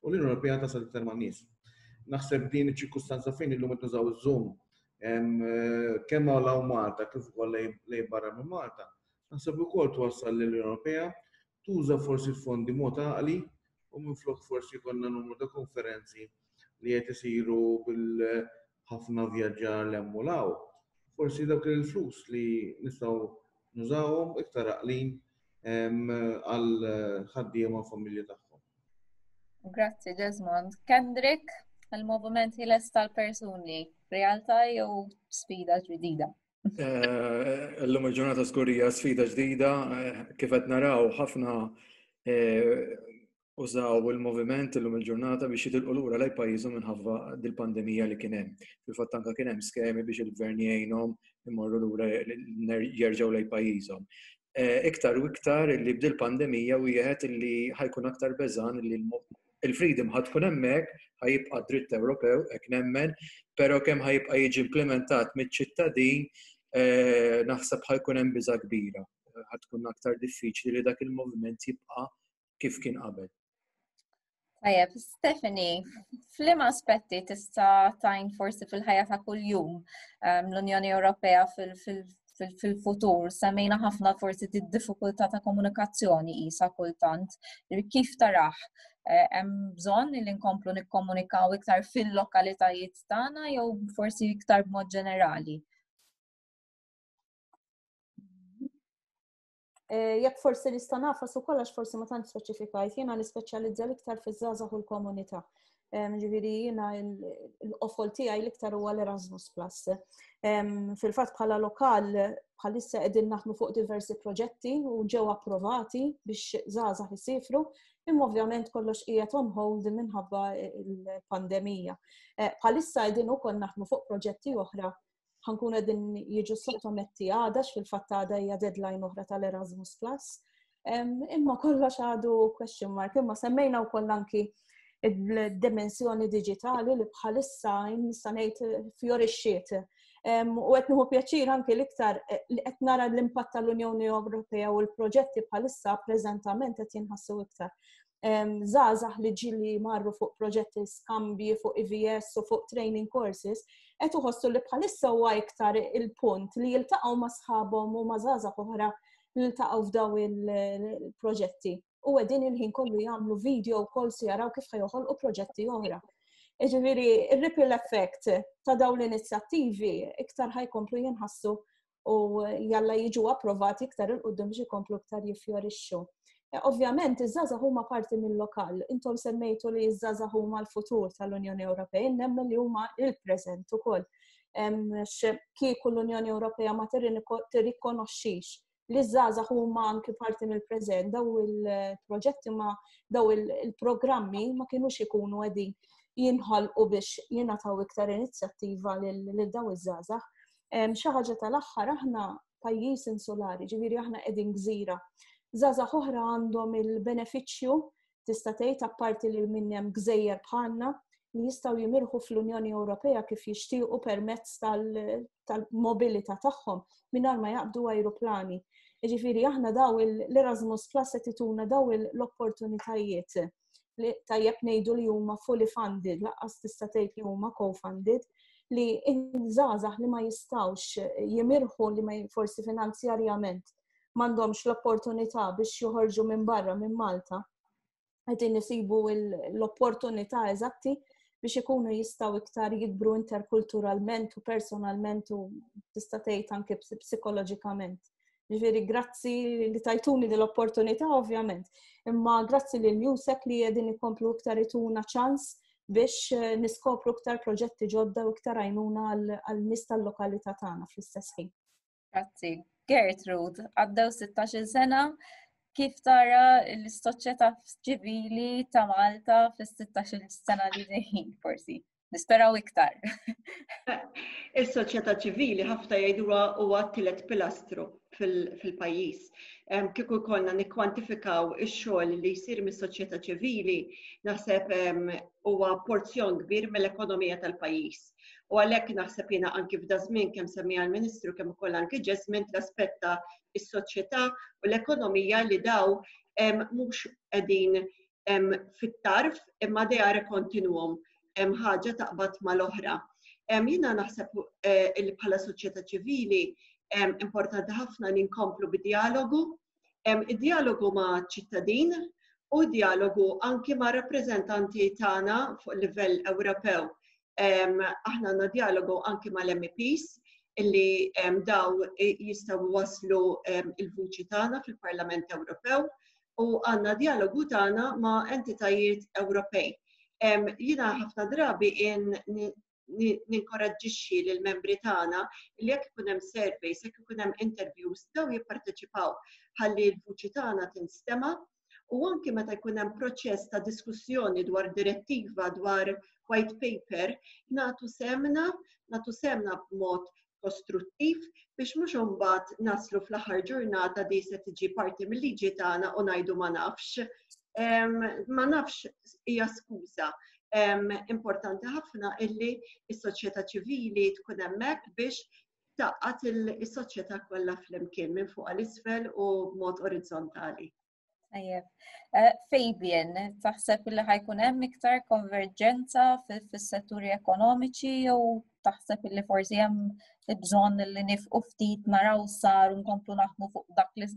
u l-Unjoni Ewropea tasal iktar man-nies. Naħseb din iċ-ċirkustanza fejn illum qed nużaw iż-Zoom kemm hawn Malta kif ukoll lejn barra minn Malta, naħseb ukoll twassal lill-Unjoni Ewropea tuża forsi l-fondi mod għaqli u minflok forsi jkollna numru ta' konferenzi li qed isiru bil-ħafna vjaġġar l hemm u 'l hawn. Forsi dawk il-flus li nistgħu nużawhom iktar għaqlin għal ħaddiema u familji tagħhom. Grazzi, Jesmond. Kendrick, il-moviment ħieles tal-persuni, realtà jew sfida ġdida? Illum il-ġurnata żgur hija sfida ġdida, kif qed naraw ħafna użaw il-moviment illum il-ġurnata biex jitilqu lura lejn pajjiżhom minħabba dil-pandemija li kien hemm. Fil-fatt anke kien hemm skemi biex il-gvern jgħinhom imorru lura jerġgħu lejn pajjiżhom. Iktar u iktar li bdil pandemija wieħed li ħa jkun aktar beżan li Il-freedom ħa tkun hemmhekk, ħa jibqa' dritt Ewropew, hekk nemmen, però kemm ħa jibqa' jiġi implementat miċ-ċittadin, eh, naħseb ħa jkun hemm biża' kbira. Ħa tkun aktar diffiċli li dak il-moviment jibqa' kif kien qabel. Tajjeb, Stephanie, f'liema aspetti tista' tgħin forsi fil-ħajja ta' kuljum ehm, l-Unjoni Ewropea fil-futur? Semmejna ħafna forsi d-diffikultà ta' komunikazzjoni isa kultant. Kif tarah? Eh, hemm bżonn li nkomplu nikkomunikaw iktar fil-lokalitajiet tagħna jew forsi iktar b'mod ġenerali? Eh, jekk forsi nista' nafas ukoll għax forsi ma tant speċifikajt, jiena nispeċjalizza l-iktar fiż-żgħażagħ u l-komunità. Ġifieri jiena l-qofol tiegħi l-iktar huwa l-Erasmus Plus. Fil-fatt bħala lokal bħalissa qegħdin naħdmu fuq diversi proġetti u ġew approvati biex żgħażagħ isifru, imma ovvjament kollox qiegħed on hold minħabba l-pandemija. Eh, bħalissa qegħdin ukoll naħdmu fuq proġetti oħra ħankun qegħdin jiġu sottometti għada fil-fatt għada hija deadline oħra tal-Erasmus Plus. Imma kollox għadu question mark, imma semmejna wkoll anki il-dimensjoni digitali li bħalissa nista' ngħid fjorixxiet. U qed nieħu pjaċir anki l-iktar eh, li qed nara l-impatt tal-Unjoni Ewropea u l-proġetti bħalissa preżentament qed jinħassu iktar. Żgħażagħ li ġili marru fuq proġetti skambji fuq E V S u fuq training courses, qed iħossu li bħalissa huwa iktar il-punt li jiltaqgħu ma' sħabhom u ma' żgħażagħ oħra li jiltaqgħu f'daw il-proġetti. U qegħdin il-ħin kollu jagħmlu video calls jaraw kif ħa joħolqu proġetti oħra. Ġifieri, il-ripple effect ta' dawn l-inizjattivi iktar ħa jkomplu jinħassu u jalla jiġu approvati iktar 'il quddiem biex ikomplu iktar jiffjorixxu. Eh, ovvjament, iż-żgħażagħ huma parti mill-lokal. Intom semmejtu li iż-żgħażagħ huma l-futur tal-Unjoni Ewropea, nemmen li huma il-preżent ukoll. Kieku l-Unjoni Ewropea ma tirrikonoxxix li żgħażagħ huma anki parti mill-preżent, daw il-proġetti ma daw il-programmi ma kienux ikunu qegħdin jinħolqu biex jingħataw iktar inizjattiva lil daw iż-żgħażagħ. Xi ħaġa tal-aħħar, aħna pajjiż insulari, ġifieri aħna qegħdin gżira. Żgħażagħ oħra għandhom il-benefiċċju, tista' tgħid, apparti li minn hemm gżejjer bħalna, li jistgħu jimirħu fl-Unjoni Ewropea kif jixtiequ permezz tal-mobilità tagħhom mingħajr ma jaqbdu ajruplani. Ġifieri aħna daw l-Erasmus Plus qed ituna daw l-opportunitajiet li tajjeb ngħidu li huma fully funded, lanqas tista' tgħid li huma co-funded, li żgħażagħ li ma jistgħux jimirħu, li ma forsi finanzjarjament m'għandhomx l-opportunità biex joħorġu minn barra minn Malta, qegħdin isibu l-opportunità eżatti biex ikunu jistgħu iktar jikbru interkulturalment u personalment u tista' tgħid anke psikoloġikament. Ġifieri grazzi li tajtuni l-opportunità ovvjament, imma grazzi lil MUSEC li qegħdin ikomplu iktar ituna ċans biex eh, niskopru iktar proġetti ġodda u iktar għajnuna għal nies tal-lokalità tagħna fl-istess ħin. Grazzi. Gertrude, għaddew sittax-il sena, kif tara l-soċjetà ċivili ta' Malta fis-sittax-il sena li ġejjin forsi? Nisperaw iktar. Is-soċjetà ċivili ħafna jgħiduha huwa t-tielet pilastru fil-pajjiż. Kieku konna nikkwantifikaw ix-xogħol li jsir mis-soċjetà ċivili, naħseb huwa porzjon kbir mill-ekonomija tal-pajjiż. U għalhekk naħseb jiena anki f'da żmien, kemm semmija l-Ministru, kemm ukoll anki Jesmond, l-aspett ta' is-soċjetà u l-ekonomija li daw mhux qegħdin fit-tarf imma they are a continuum, hemm ħaġa taqbad mal-oħra. Jiena naħseb eh, li bħala soċjetà ċivili importanti ħafna li nkomplu bid-dialogu, id-dialogu ma' ċittadin u dialogu anki ma' rappreżentanti tagħna fuq livell Ewropew. Aħna għandna dialogu anki mal-M E Ps illi daw jistgħu waslu il-vuċi tagħna fil-Parlament Ewropew u għandna dialogu tagħna ma' entitajiet Ewropej. Jiena ħafna drabi ninkoraġġixxi lill membri tagħna li jekk ikun hemm surveys, jekk ikun hemm interviews, daw jipparteċipaw ħalli l-vuċi tagħna tinstema' u anki meta jkun hemm proċess ta' diskussjoni dwar direttiva, dwar white paper, nagħtu sehemna, nagħtu sehemna b'mod kostruttiv biex mhux imbagħad naslu fl-aħħar ġurnata di se tiġi parti mill-liġi tagħna u ngħidu ma nafx. Ma nafx hija skuża. Importanti ħafna illi s-soċjetà ċivili tkun hemmhekk biex tgħaqqad is-soċjetà kollha flimkien minn fuq għal isfel u b'mod orizzontali. Tajjeb. Eh, Fabian, taħseb li ħa jkun hemm iktar konverġenza fis-setturi ekonomiċi jew taħseb li forsi hemm bżonn li nieqfu ftit naraw sar u nkomplu naħdmu fuq dak li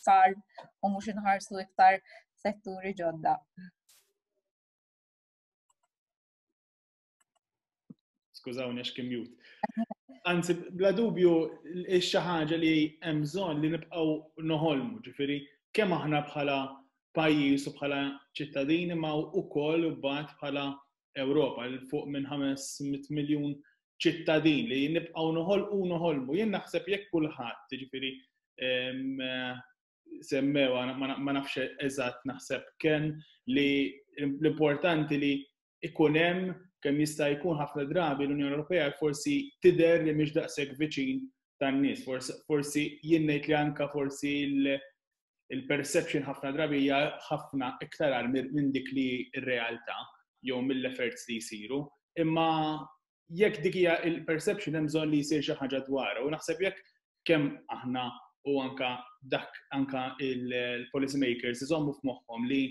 sar u mhux inħarsu iktar setturi ġodda? Skużawni għax kien mute. Anzi, bla dubju, xi ħaġa li hemm bżonn li nibqgħu noħolmu, ġifieri kemm aħna bħala pajjiż u bħala ċittadini ma wkoll mbagħad bħala Ewropa l fuq minn ħames mitt miljun ċittadin li nibqgħu noħolqu u noħolmu. Jien naħseb jekk kulħadd, ġifieri semmewa, ma nafx eżatt naħseb kemm li l-importanti li ikun hemm kemm jista' jkun ħafna drabi l-Unjoni Ewropea forsi tidher li mhix daqshekk viċin tan-nies. Forsi jien ngħid li anka forsi il-perception ħafna drabi hija ħafna iktar għal minn dik li r-realtà jew mill-efforts li jsiru. Imma jekk dik hija il-perception hemm bżonn li jsir xi ħaġa dwarha. U naħseb jekk kemm aħna u anka dak anka il-policy makers iżommu f'moħħhom li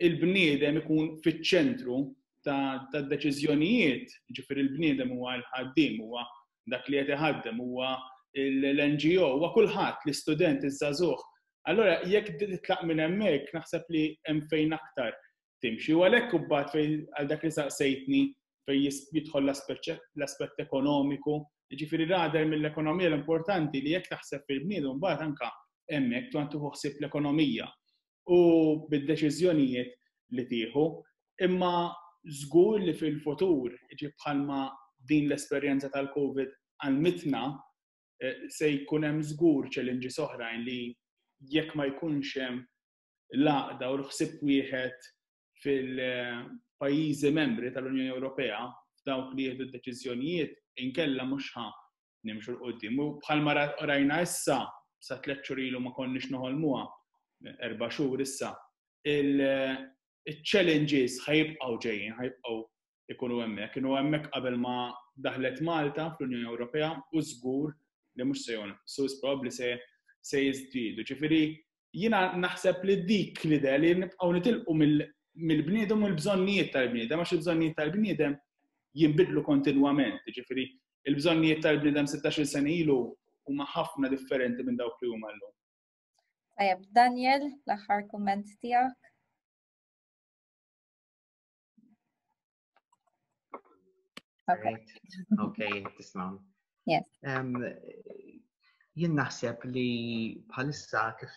il-bniedem ikun fiċ-ċentru ta' deċiżjonijiet, ġifieri il-bniedem huwa l-ħaddiem, huwa dak li qed iħaddem, huwa l-N G O, huwa kulħadd, l-istudent, iż-żagħżugħ. Allora jekk titlaq minn hemmhekk naħseb li hemm fejn aktar timxi. U għalhekk imbagħad fejn għal dak li saqsejtni fejn jidħol l-aspett ekonomiku, jiġifieri rader mill-ekonomija l-importanti li jekk taħseb fil-bniedem mbagħad anka hemmhekk tuħan tieħu ħsieb l-ekonomija u bid-deċiżjonijiet li tieħu. Imma żgur li fil-futur, jiġi bħalma din l-esperjenza tal-COVID għalmitna, eh, se jkun hemm żgur challenges oħrajn li jekk ma jkunx hemm l-għaqda u l-ħsieb wieħed fil-pajjiżi membri tal-Unjoni Ewropea f'dawk li jieħdu d-deċiżjonijiet, inkella mhux ħa nimxu 'l quddiem. U bħalma ra-, rajna issa, sa tliet xhur ilu ma konniex noħolmuha, erba' xhur issa, il-, il-challenges ħajibqgħu ġejjin, ħajibqgħu ikunu hemmhekk. Kienu hemmhekk qabel ma daħlet Malta fl-Unjoni Ewropea u żgur li mhux se jonqsu, probabbli se, se jiżdiedu. Ġifieri jiena naħseb li dik l-idea li nibqgħu nitilqu mill-, mill-bniedem u l-bżonnijiet tal-bniedem, għax il-bżonnijiet tal-bniedem jinbidlu kontinwament. Ġifieri il-bżonnijiet tal-bniedem sittax-il sena ilu huma ħafna differenti minn dawk li huma llum. Tajjeb, Daniel, l-aħħar kumment tiegħek. Okay. Right. Okay, tismawni. Yes. Um, jien naħseb li bħalissa kif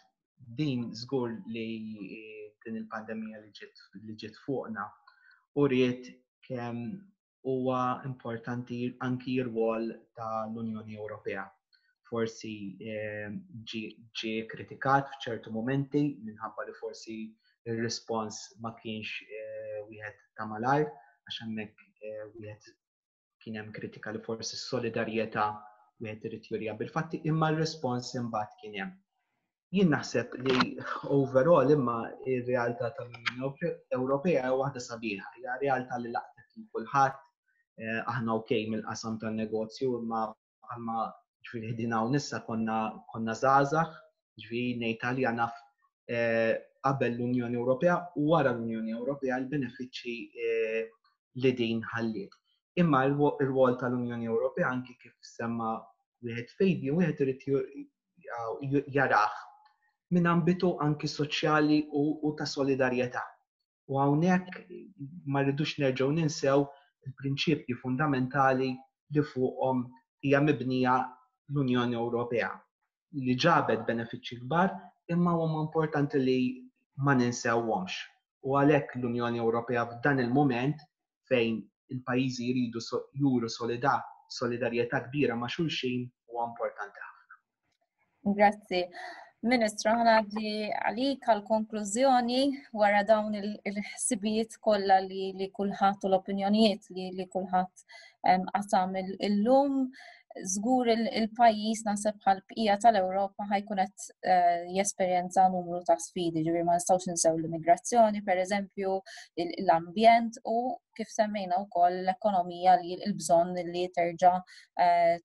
din żgur li din il-pandemija li ġiet, li ġiet fuqna u ried kemm huwa importanti anki r-rwol tal-Unjoni Ewropea. Forsi, eh, ġie, ġie kritikat f'ċertu momenti minħabba li forsi ir-rispons ma kienx, eh, wieħed ta' malajr, għax hemmhekk, eh, wieħed kien hemm kritika li forsi s-solidarjetà wieħed irid jurija bil-fatti, imma r-rispons imbagħad kien hemm. Jien naħseb li overall imma ir-realtà tal-Unjoni Ewropea hija waħda sabiħa, hija realtà li laqtet lil kulħadd, eh, aħna okej mill-qasam tan-negozju, imma bħalma ġifieri ħdin hawn issa konna, konna żgħażagħ, ġifieri ngħid għalija naf, eh, qabel l-Unjoni Ewropea u wara l-Unjoni Ewropea l-benefiċċji, eh, li din ħalliet. Imma il-rwol tal-Unjoni Ewropea anki kif semma wieħed fejdi, wieħed irid ju-, ju-, jarah minn ambitu anki soċjali u, u ta' solidarjetà. U hawnhekk ma rridux nerġgħu ninsew il-prinċipji fundamentali li fuqhom hija mibnija l-Unjoni Ewropea, li ġabet benefiċċji kbar, imma huma importanti li ma ninsewhomx. U għalhekk l-Unjoni Ewropea f'dan il-mument fejn il-pajjiżi jridu so-, juru solida-, solidarjetà kbira ma' xulxin huwa importanti ħafna. Grazzi. Ministru, ħanaddi għalik għal-konklużjoni wara dawn il-, il-ħsibijiet kollha li, li kulħadd u l-opinjonijiet li, li kulħadd, em, qasam il-, illum. Żgur il-pajjiż naħseb bħal bqija tal-Ewropa ħajkun qed eh, jesperjenza numru ta' sfidi, ġifieri ma nistgħux ninsew l-immigrazzjoni, pereżempju, l-ambjent u kif semmejna wkoll l-ekonomija li l-bżonn li terġa' eh,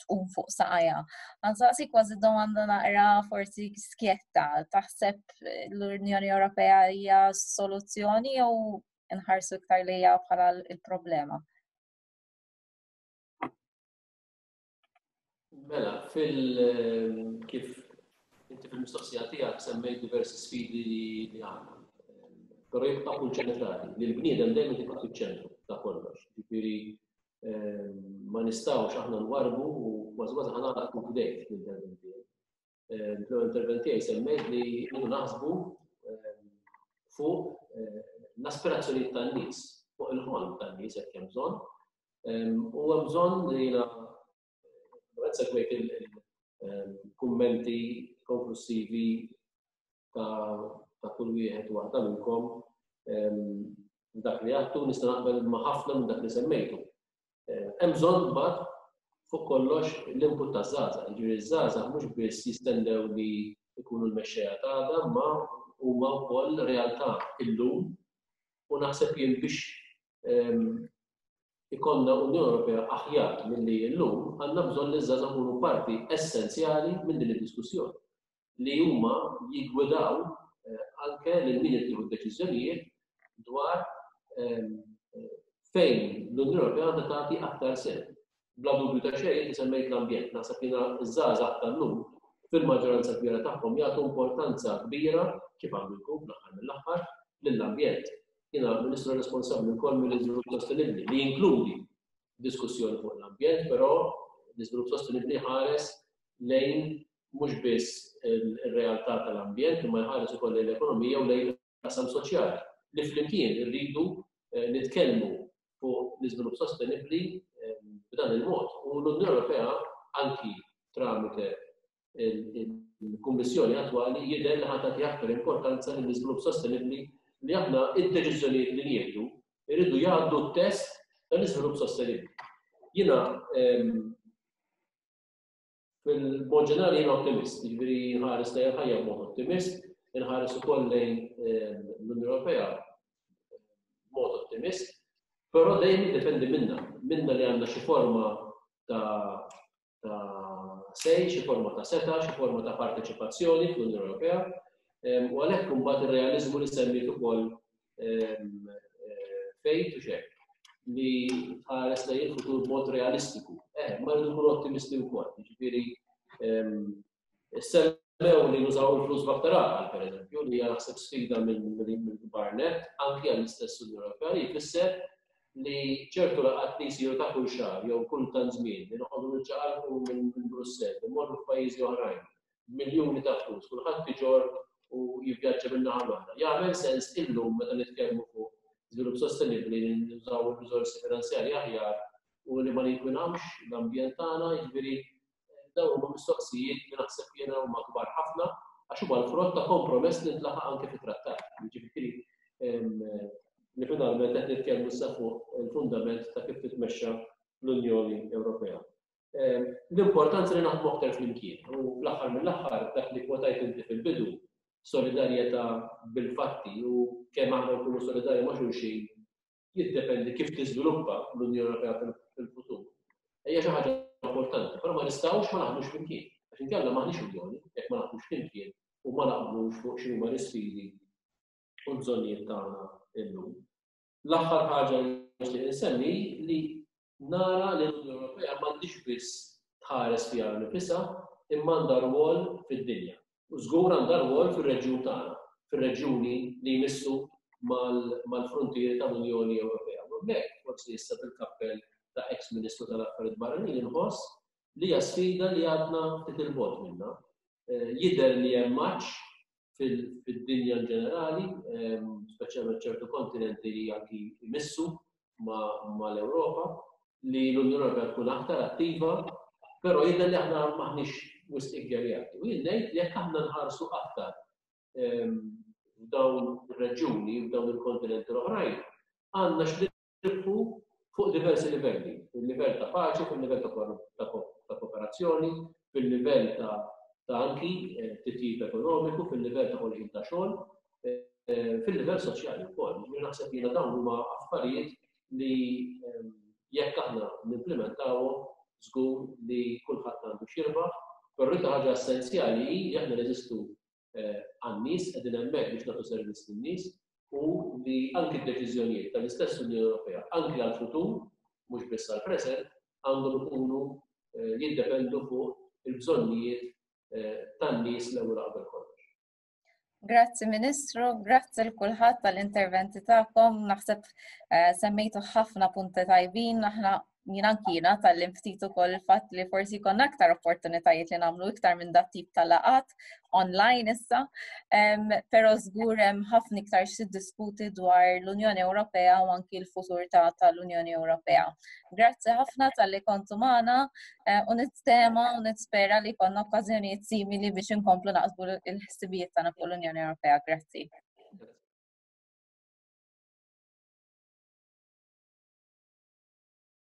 tqum fuq saqajha. Għansaqsi kważi domanda naqra forsi skjetta, taħseb l-Unjoni Ewropea hija soluzzjoni jew nħarsu iktar lejha bħala l-problema? Mela, fil kif inti fil-mistoqsija tiegħek semmejt diversi sfidi li għandna. Però jibqa' punt ċentrali, li l-bniedem dejjem tibqa' fiċ-ċentru ta' kollox. Ġifieri ehm, ma nistgħux aħna nwarbu u kważi kważi ħanaqlaq kif bdejt l-intervent tiegħi. Ehm, fl-ewwel intervent tiegħi semmejt li rridu naħsbu ehm, fuq eh, l-aspirazzjonijiet tan-nies, fuq il-ħolm tan-nies jekk hemm bżonn. U hemm bżonn li jiena segwejt il-kummenti konklusivi ta' kull wieħed u waħda minnkom dak li għattu nista' naqbel ma' ħafna minn dak li semmejtu. Hemm bżonn mbagħad fuq kollox l-input ta' żgħażagħ. Jiġifieri ż-żgħażagħ mhux biss jistennew li jkunu l-mexxejja ta' għada, ma huma wkoll realtà illum u naħseb jien biex ikollna Unjoni Ewropea aħjar milli hi llum, għandna bżonn li ż-żgħażagħ ikunu parti essenzjali minn din id-diskussjoni, li huma jiggwidaw anke lil min irid jieħu d-deċiżjonijiet dwar fejn l-Unjoni Ewropea għandha tagħti aktar sehem. Bla dubju ta' xejn, inti semmejt l-ambjent, naħseb jiena ż-żgħażagħ tal-lum fil-maġġoranza kbira tagħhom jagħtu importanza kbira, kif għandu jkun fl-aħħar mill-aħħar, lill-ambjent. Jiena Ministru responsabbli wkoll mill-iżvilupp sostenibbli li jinkludi diskussjoni fuq l-ambjent, però l-iżvilupp sostenibbli jħares lejn mhux biss ir-realtà tal-ambjent, imma jħares ukoll lejn l-ekonomija u lejn il-qasam soċjali li flimkien irridu eh, nitkellmu fuq l-iżvilupp sostenibbli eh, b'dan il-mod. U l-Unjoni Ewropea anki tramite il-Kummissjoni attwali jidher li ħa tagħti aktar importanza lill-iżvilupp sostenibbli li aħna id-deċiżjonijiet li nieħdu jridu jgħaddu t-test tal-iżvilupp sostenibbli. Jiena ehm, fil-mod ġenerali jiena ottimist, jiġifieri nħares lejn il-ħajja b'mod ottimist, inħares ukoll lejn ehm, l-Unjoni Ewropea b'mod ottimist, però dejjem jiddependi minna, minna li għandna xi forma ta' ta' sej, xi forma ta' seta, xi forma ta' parteċipazzjoni fl-Unjoni Ewropea, u għalhekk imbagħad ir-realiżmu li semmiet ukoll eh, fejt u xek li tħares lejn il-futur b'mod realistiku. Eh, ma rridu nkunu ottimisti wkoll, jiġifieri Semmew li nużaw il-flus b'aktar għaqal, per eżempju, li hija naħseb sfida mill-kbar net, anki għall-istess Unjoni Ewropea, li jfisser li ċertu laqgħat li jsiru ta' kull xahar jew kull tant żmien li noqogħdu niċċaqalqu minn Brussell, immorru f'pajjiżi oħrajn, b'miljuni ta' flus, kulħadd iġorr u jivvjaġġa minn naħa l-oħra. Jagħmel sens illum meta nitkellmu fuq żvilupp sostenibbli li nużaw ir-riżorsi finanzjarji aħjar u li ma ninkwinawx l-ambjent tagħna, jiġifieri Dawn huma mistoqsijiet li naħseb jiena huma kbar ħafna għax huma l-frott ta' kompromess li ntlaħaq anke fit-trattat. Jiġifieri li finalment qed nitkellmu issa fuq il-fundament ta' kif titmexxa l-Unjoni Ewropea. L-importanza li naħdmu aktar flimkien u fl-aħħar mill-aħħar dak li kwotajt inti fil-bidu solidarjetà bil-fatti u kemm aħna nkunu solidarji ma' xulxin jiddependi kif tiżviluppa l-Unjoni Ewropea fil-futur. Hija xi ħaġa importanti, però ma nistgħux ma naħdmux flimkien. Għax inkella m'aħniex Unjoni jekk ma naħdmux flimkien u ma naqblux fuq x'inhuma l-isfidi u l-bżonnijiet tagħna illum. L-aħħar ħaġa li nixtieq insemmi li nara li l-Unjoni Ewropea m'għandix biss tħares fiha nifisha imma għandha rwol fid-dinja. U żgur għandha rwol fir-reġjun tagħna, fir-reġjuni li jmissu mal-fruntieri tal-Unjoni Ewropea. U hemmhekk, forsi issa bil-kappell ta' eks Ministru tal-Affarijiet Barranin inħoss li hija sfida li għadna ftit 'il bogħod minnha. Jidher li hemm għatx fid-dinja in ġenerali, speċjalment ċertu kontinenti li anki jmissu mal-Ewropa, li l-Unjoni Ewropea tkun aktar attiva, però jidher li aħna m'aħniex wisq iggherjati. U jien ngħid li jekk aħna nħarsu aktar f'dawn ir-reġjuni, f'dawn il-kontinenti l-oħrajn, għandna x'nirbħu Fuq diversi livelli, fil-livell ta' paċi, fil-livell ta' kooperazzjoni, fil-livell ta' ta' anki eh, titjib ekonomiku, fil-livell ta' ħolqien ta' xogħol, eh, fil-livell soċjali wkoll. Jiġifieri naħseb jiena dawn huma affarijiet li ehm, jekk aħna nimplementawhom żgur li kulħadd għandu x'jirbaħ, però l-iktar ħaġa essenzjali hi li aħna neżistu eh, għan-nies, qegħdin hemmhekk biex nagħtu servizz lin-nies u li anki d-deċiżjonijiet tal-istess Unjoni Ewropea, anki għall-futur, mhux biss għall-preżent, għandhom ikunu eh, jiddependu fuq il-bżonnijiet eh, tan-nies l-ewwel qabel kollox. Grazzi Ministru, grazzi l kulħadd tal-interventi tagħkom. Naħseb eh, semmejtu ħafna punti tajbin, aħna jien anki jiena tgħallimt ftit ukoll il-fatt li forsi jkollna aktar opportunitajiet li nagħmlu iktar minn dat tip ta' laqgħat online issa. Però żgur hemm ħafna iktar xi diskuti dwar l-Unjoni Ewropea u anki l-futur tal-Unjoni Ewropea. Grazzi ħafna talli kontu magħna eh, u nittama u nispera li jkollna okkażjonijiet simili biex inkomplu naqsmu l-ħsibijiet tagħna fuq l-Unjoni Ewropea. Grazzi.